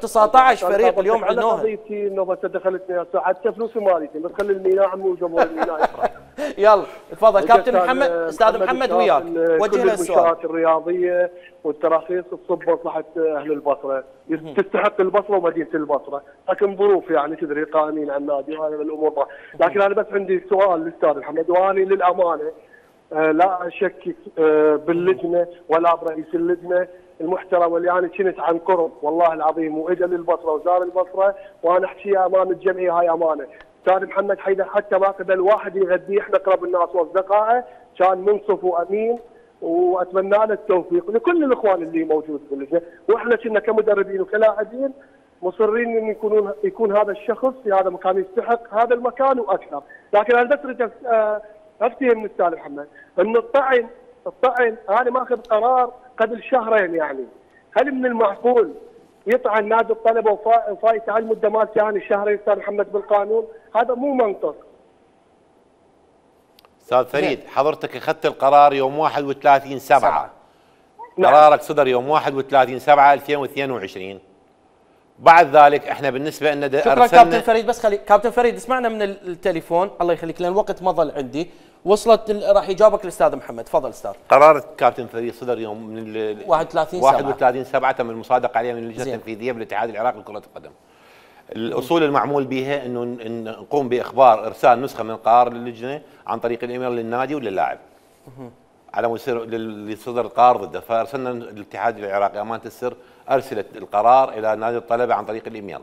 تسعطعش فريق اليوم عندنا قضيتي انه بس دخلتني هسه حتى فلوسي مالتي بس خلي الميناء عمي وجمهور الميناء يفرح. يلا تفضل كابتن محمد. استاذ محمد وياك وجه له السؤال. المنشآت الرياضيه والتراخيص تصب مصلحه اهل البصره، تستحق البصره ومدينه البصره، لكن ظروف يعني تدري قائمين على النادي وهذا من الامور. لكن انا بس عندي سؤال للاستاذ محمد واني للامانه لا اشكك باللجنه ولا برئيس اللجنه المحترم اللي انا كنت عن قرب والله العظيم واجا للبصره وزار البصره وانا احكيها امام الجمعيه هاي امانه. استاذ محمد حيدر حتى ما قبل واحد يغذيه، احنا اقرب الناس واصدقائه، كان منصف وامين واتمنى له التوفيق لكل الاخوان اللي موجود في اللجنه، واحنا كنا كمدربين وكلاعبين مصرين ان يكونون يكون هذا الشخص في هذا المكان يستحق هذا المكان واكثر. لكن انا بس اريد افتهم من الاستاذ محمد ان الطعن الطعن انا ماخذ قرار قبل شهرين يعني، هل من المعقول يطعن نادي الطلبه وفايت على المده مالته يعني شهرين استاذ محمد بالقانون؟ هذا مو منطق. استاذ فريد حضرتك اخذت القرار يوم واحد وثلاثين سبعة، نعم. قرارك صدر يوم واحد وثلاثين سبعة ألفين واثنين وعشرين. بعد ذلك احنا بالنسبه لنا شكرا كابتن فريد. بس خلي كابتن فريد اسمعنا من التليفون الله يخليك لان الوقت ما ظل عندي. وصلت راح يجاوبك الاستاذ محمد. تفضل استاذ. قرار كابتن فريد صدر يوم من واحد وثلاثين سبعة واحد وثلاثين سبعة تم المصادقه عليه من اللجنه التنفيذيه بالاتحاد العراقي لكره القدم. الاصول المعمول بها انه نقوم باخبار ارسال نسخه من القرار للجنه عن طريق الايميل للنادي وللاعب على مود اللي صدر القرار ضده، فارسلنا الاتحاد العراقي امانه السر ارسلت القرار الى نادي الطلبه عن طريق الايميل،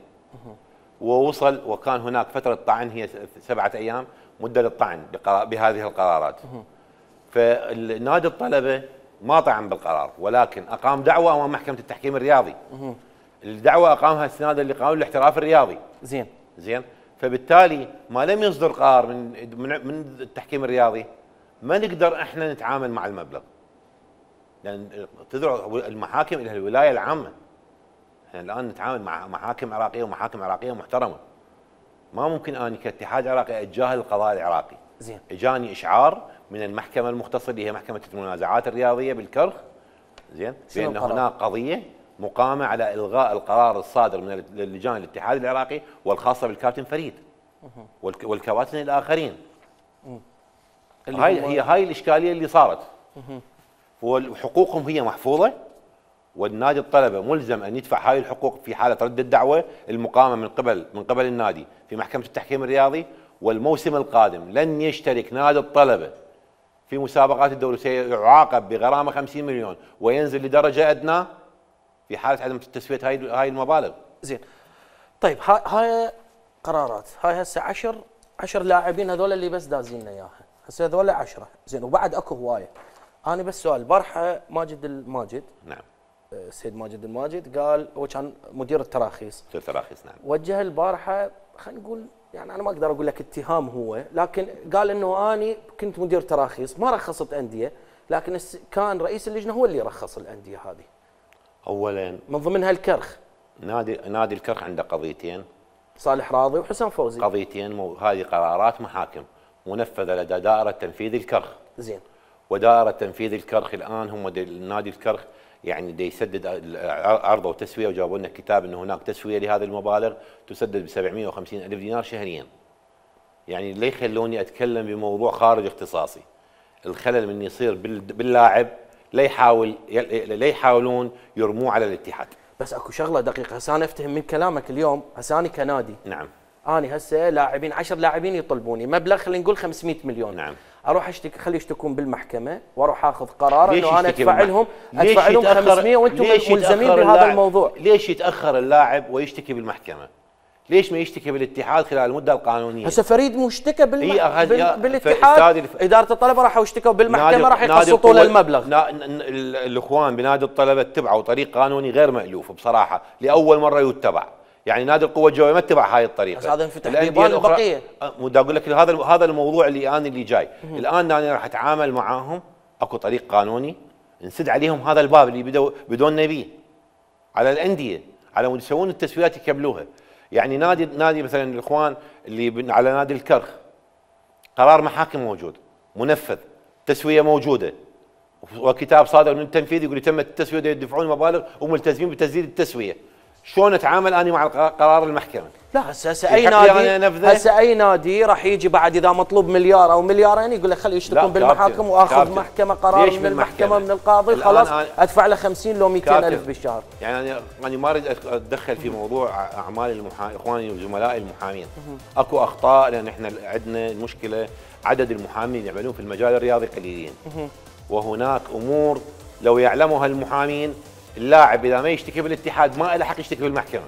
ووصل وكان هناك فتره طعن هي سبعه ايام مده للطعن بهذه القرارات. فنادي الطلبه ما طعن بالقرار ولكن اقام دعوه امام محكمه التحكيم الرياضي. الدعوه اقامها السناده لقانون الاحتراف الرياضي. زين زين فبالتالي ما لم يصدر قرار من من التحكيم الرياضي ما نقدر احنا نتعامل مع المبلغ. لان تدعو المحاكم الى الولايه العامه. احنا الان نتعامل مع محاكم عراقيه ومحاكم عراقيه محترمه. ما ممكن اني كاتحاد عراقي اتجاهل القضاء العراقي. زين. اجاني اشعار من المحكمه المختصه اللي هي محكمه المنازعات الرياضيه بالكرخ. زين بان هناك قضيه مقامه على الغاء القرار الصادر من اللجان الاتحاد العراقي والخاصه بالكابتن فريد والكباتن الاخرين. هاي هي هاي الاشكاليه اللي صارت. وحقوقهم هي محفوظه والنادي الطلبه ملزم ان يدفع هاي الحقوق في حاله رد الدعوه المقامه من قبل من قبل النادي في محكمه التحكيم الرياضي. والموسم القادم لن يشترك نادي الطلبه في مسابقات الدوري، سيعاقب بغرامه خمسين مليون وينزل لدرجه ادنى في حاله عدم تسويه هاي هاي المبالغ. زين. طيب هاي هاي قرارات، هاي هسه عشر عشر لاعبين هذول اللي بس دازين لنا اياها، هسه هذول عشرة، زين وبعد اكو هوايه. انا بس سؤال، البارحه ماجد الماجد نعم السيد ماجد الماجد قال هو كان مدير التراخيص. مدير التراخيص نعم. وجه البارحه خلينا نقول يعني انا ما اقدر اقول لك اتهام هو، لكن قال انه اني كنت مدير تراخيص ما رخصت انديه، لكن كان رئيس اللجنه هو اللي رخص الانديه هذه. اولا من ضمنها الكرخ. نادي نادي الكرخ عنده قضيتين، صالح راضي وحسام فوزي. قضيتين مو... هذه قرارات محاكم منفذه لدى دائره تنفيذ الكرخ. زين. ودائره تنفيذ الكرخ الان هم نادي الكرخ يعني دي يسدد عرضه وتسويه، وجابوا لنا كتاب انه هناك تسويه لهذه المبالغ تسدد ب سبعمئة وخمسين ألف دينار شهريا. يعني ليه يخلوني اتكلم بموضوع خارج اختصاصي؟ الخلل من يصير باللاعب لا يحاول لا يحاولون يرموه على الاتحاد. بس اكو شغله دقيقه، هسه انا افتهم من كلامك اليوم، هسه انا كنادي نعم اني هسه لاعبين عشر لاعبين يطلبوني مبلغ خلينا نقول خمسمئة مليون. نعم. اروح اشتكي خلي يشتكون بالمحكمه واروح اخذ قرار انه انا ادفع لهم ادفع لهم خمسمئة وانتم ملزمين بهذا الموضوع. ليش يتاخر اللاعب ويشتكي بالمحكمه؟ ليش ما يشتكي بالاتحاد خلال المده القانونيه؟ هسه فريد مشتكى بالم... إيه بال... بالاتحاد، الف... اداره الطلبه راحوا اشتكوا بالمحكمه راح يقسطوا له المبلغ. نا... الاخوان بنادي الطلبه اتبعوا طريق قانوني غير مألوف بصراحه، لاول مره يتبع. يعني نادي القوه الجويه ما اتبع هاي الطريقه. بس هذا انفتح بيبان البقيه. بدي اقول لك هذا هذا الموضوع اللي انا اللي جاي. الان انا راح اتعامل معاهم اكو طريق قانوني نسد عليهم هذا الباب اللي بدوا بدون نبيه على الانديه على مود يسوون التسويات يكملوها. يعني نادي نادي مثلا الاخوان اللي على نادي الكرخ قرار محاكم موجود منفذ، تسويه موجوده وكتاب صادر من التنفيذ يقول تمت التسويه يدفعون مبالغ وملتزمين بتسديد التسويه. شلون اتعامل انا مع قرار المحكمه؟ لا هسه هسه اي نادي هسه اي نادي راح يجي بعد اذا مطلوب مليار او مليارين يقول لك خلي يشتكون بالمحاكم واخذ محكمه قرار من المحكمه من القاضي خلاص ادفع له خمسين لو مئتين ألف بالشهر. يعني انا انا ما اريد اتدخل في موضوع اعمال المحامين اخواني وزملائي المحامين. اكو اخطاء لان احنا عندنا المشكله عدد المحامين اللي يعملون في المجال الرياضي قليلين. وهناك امور لو يعلمها المحامين اللاعب اذا ما يشتكي بالاتحاد ما له حق يشتكي بالمحكمه.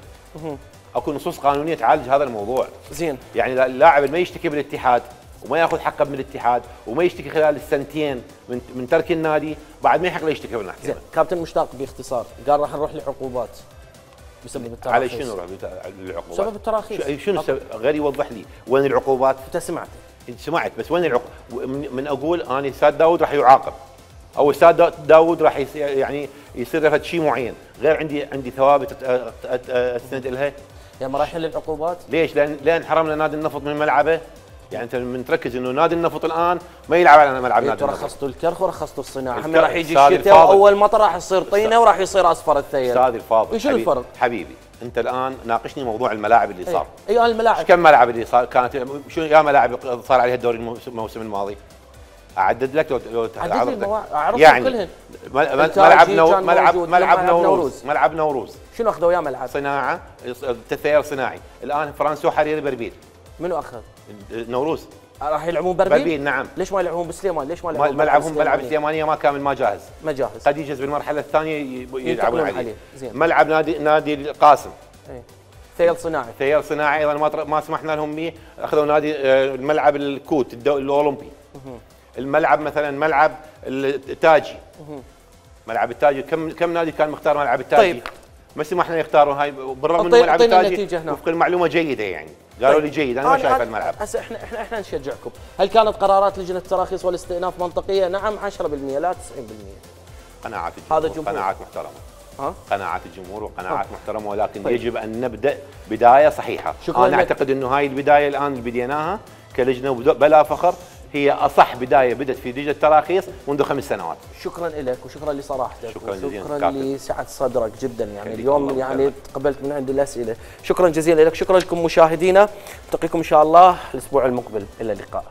اكو نصوص قانونيه تعالج هذا الموضوع. زين. يعني اللاعب اللي ما يشتكي بالاتحاد وما ياخذ حقه من الاتحاد وما يشتكي خلال السنتين من من ترك النادي بعد ما يحق له يشتكي بالمحكمه. زين، كابتن مشتاق باختصار قال راح نروح لعقوبات بسبب التراخيص. على شنو نروح للعقوبات؟ بسبب التراخيص. شنو غير يوضح لي وين العقوبات؟ انت سمعت؟ سمعت بس وين العقوبات؟ من اقول انا ساد داود راح يعاقب. او استاذ دا- داوود راح يصير يعني يصير فد شيء معين، غير عندي عندي ثوابت أت- أت- أت- استند لها. يعني ما راح يحل العقوبات؟ ليش؟ لان لان حرمنا نادي النفط من ملعبه. يعني انت من تركز انه نادي النفط الان ما يلعب على ملعب نادي النفط. رخصتوا الكرخ ورخصتوا الصناعه، هم الكرخ. راح يجي أستاذ الشتاء الفاضل. واول مطر راح يصير طينه وراح يصير اصفر الثيل. استاذ الفاضل، وشنو حبيبي- الفرق؟ حبيبي انت الان ناقشني موضوع الملاعب اللي صار. ايوه الملاعب. كم ملعب اللي صار كانت شو يا ملاعب صار عليها الدوري الموسم الموسم الماضي؟ اعدد لك لو لو عدد لي المواعيد، اعرفهم يعني كلهن. مل- مل- التاجي ملعب نو كان ملعب موجود، ملعب ملعب نوروز نوروز. ملعب نوروز شنو اخذوا يا ملعب؟ صناعه تثير صناعي. الان فرنسا حريري بربيل. منو اخذ؟ نوروز راح يلعبون بربيل؟ بربيل نعم. ليش ما يلعبون بسليمان؟ ليش ما يلعبون ملعبهم ملعب السليمانيه ما كامل ما جاهز. ما جاهز. قد يجهز بالمرحله الثانيه ي- يلعبون عليه. عليه. زين. ملعب نادي نادي القاسم. ايه. ثيل صناعي. ثير صناعي ايضا ما تر- ما سمحنا لهم به، اخذوا نادي آه، الملعب الكوت الدو- الاولمبي. الملعب مثلا ملعب التاجي. ملعب التاجي كم كم نادي كان مختار ملعب التاجي؟ طيب. ما سمحنا يختاروا هاي بالرغم انه طيب، ملعب أعطينا التاجي النتيجة هنا. وفق المعلومه جيده يعني. قالوا طيب. لي جيد انا ما أنا- شايف أنا- الملعب. هسه احنا احنا احنا نشجعكم، هل كانت قرارات لجنه التراخيص والاستئناف منطقيه؟ نعم عشرة بالمئة لا تسعين بالمئة. قناعات الجمهور هذا الجمهور. قناعات محترمه. ها؟ قناعات الجمهور وقناعات ها. محترمه، ولكن طيب. يجب ان نبدا بدايه صحيحه. شكراً انا لك. اعتقد انه هاي البدايه الان اللي بديناها كلجنه وبدو- بلا فخر هي اصح بدايه بدت في لجنه التراخيص منذ خمس سنوات. شكرا لك وشكرا لصراحتك شكراً جزيلاً وشكرا كابتن. لسعه صدرك جدا يعني خليك اليوم الله يعني يخليك. تقبلت من عندي الاسئله. شكرا جزيلا لك، شكرا لكم مشاهدينا، نلتقيكم ان شاء الله الاسبوع المقبل، الى اللقاء.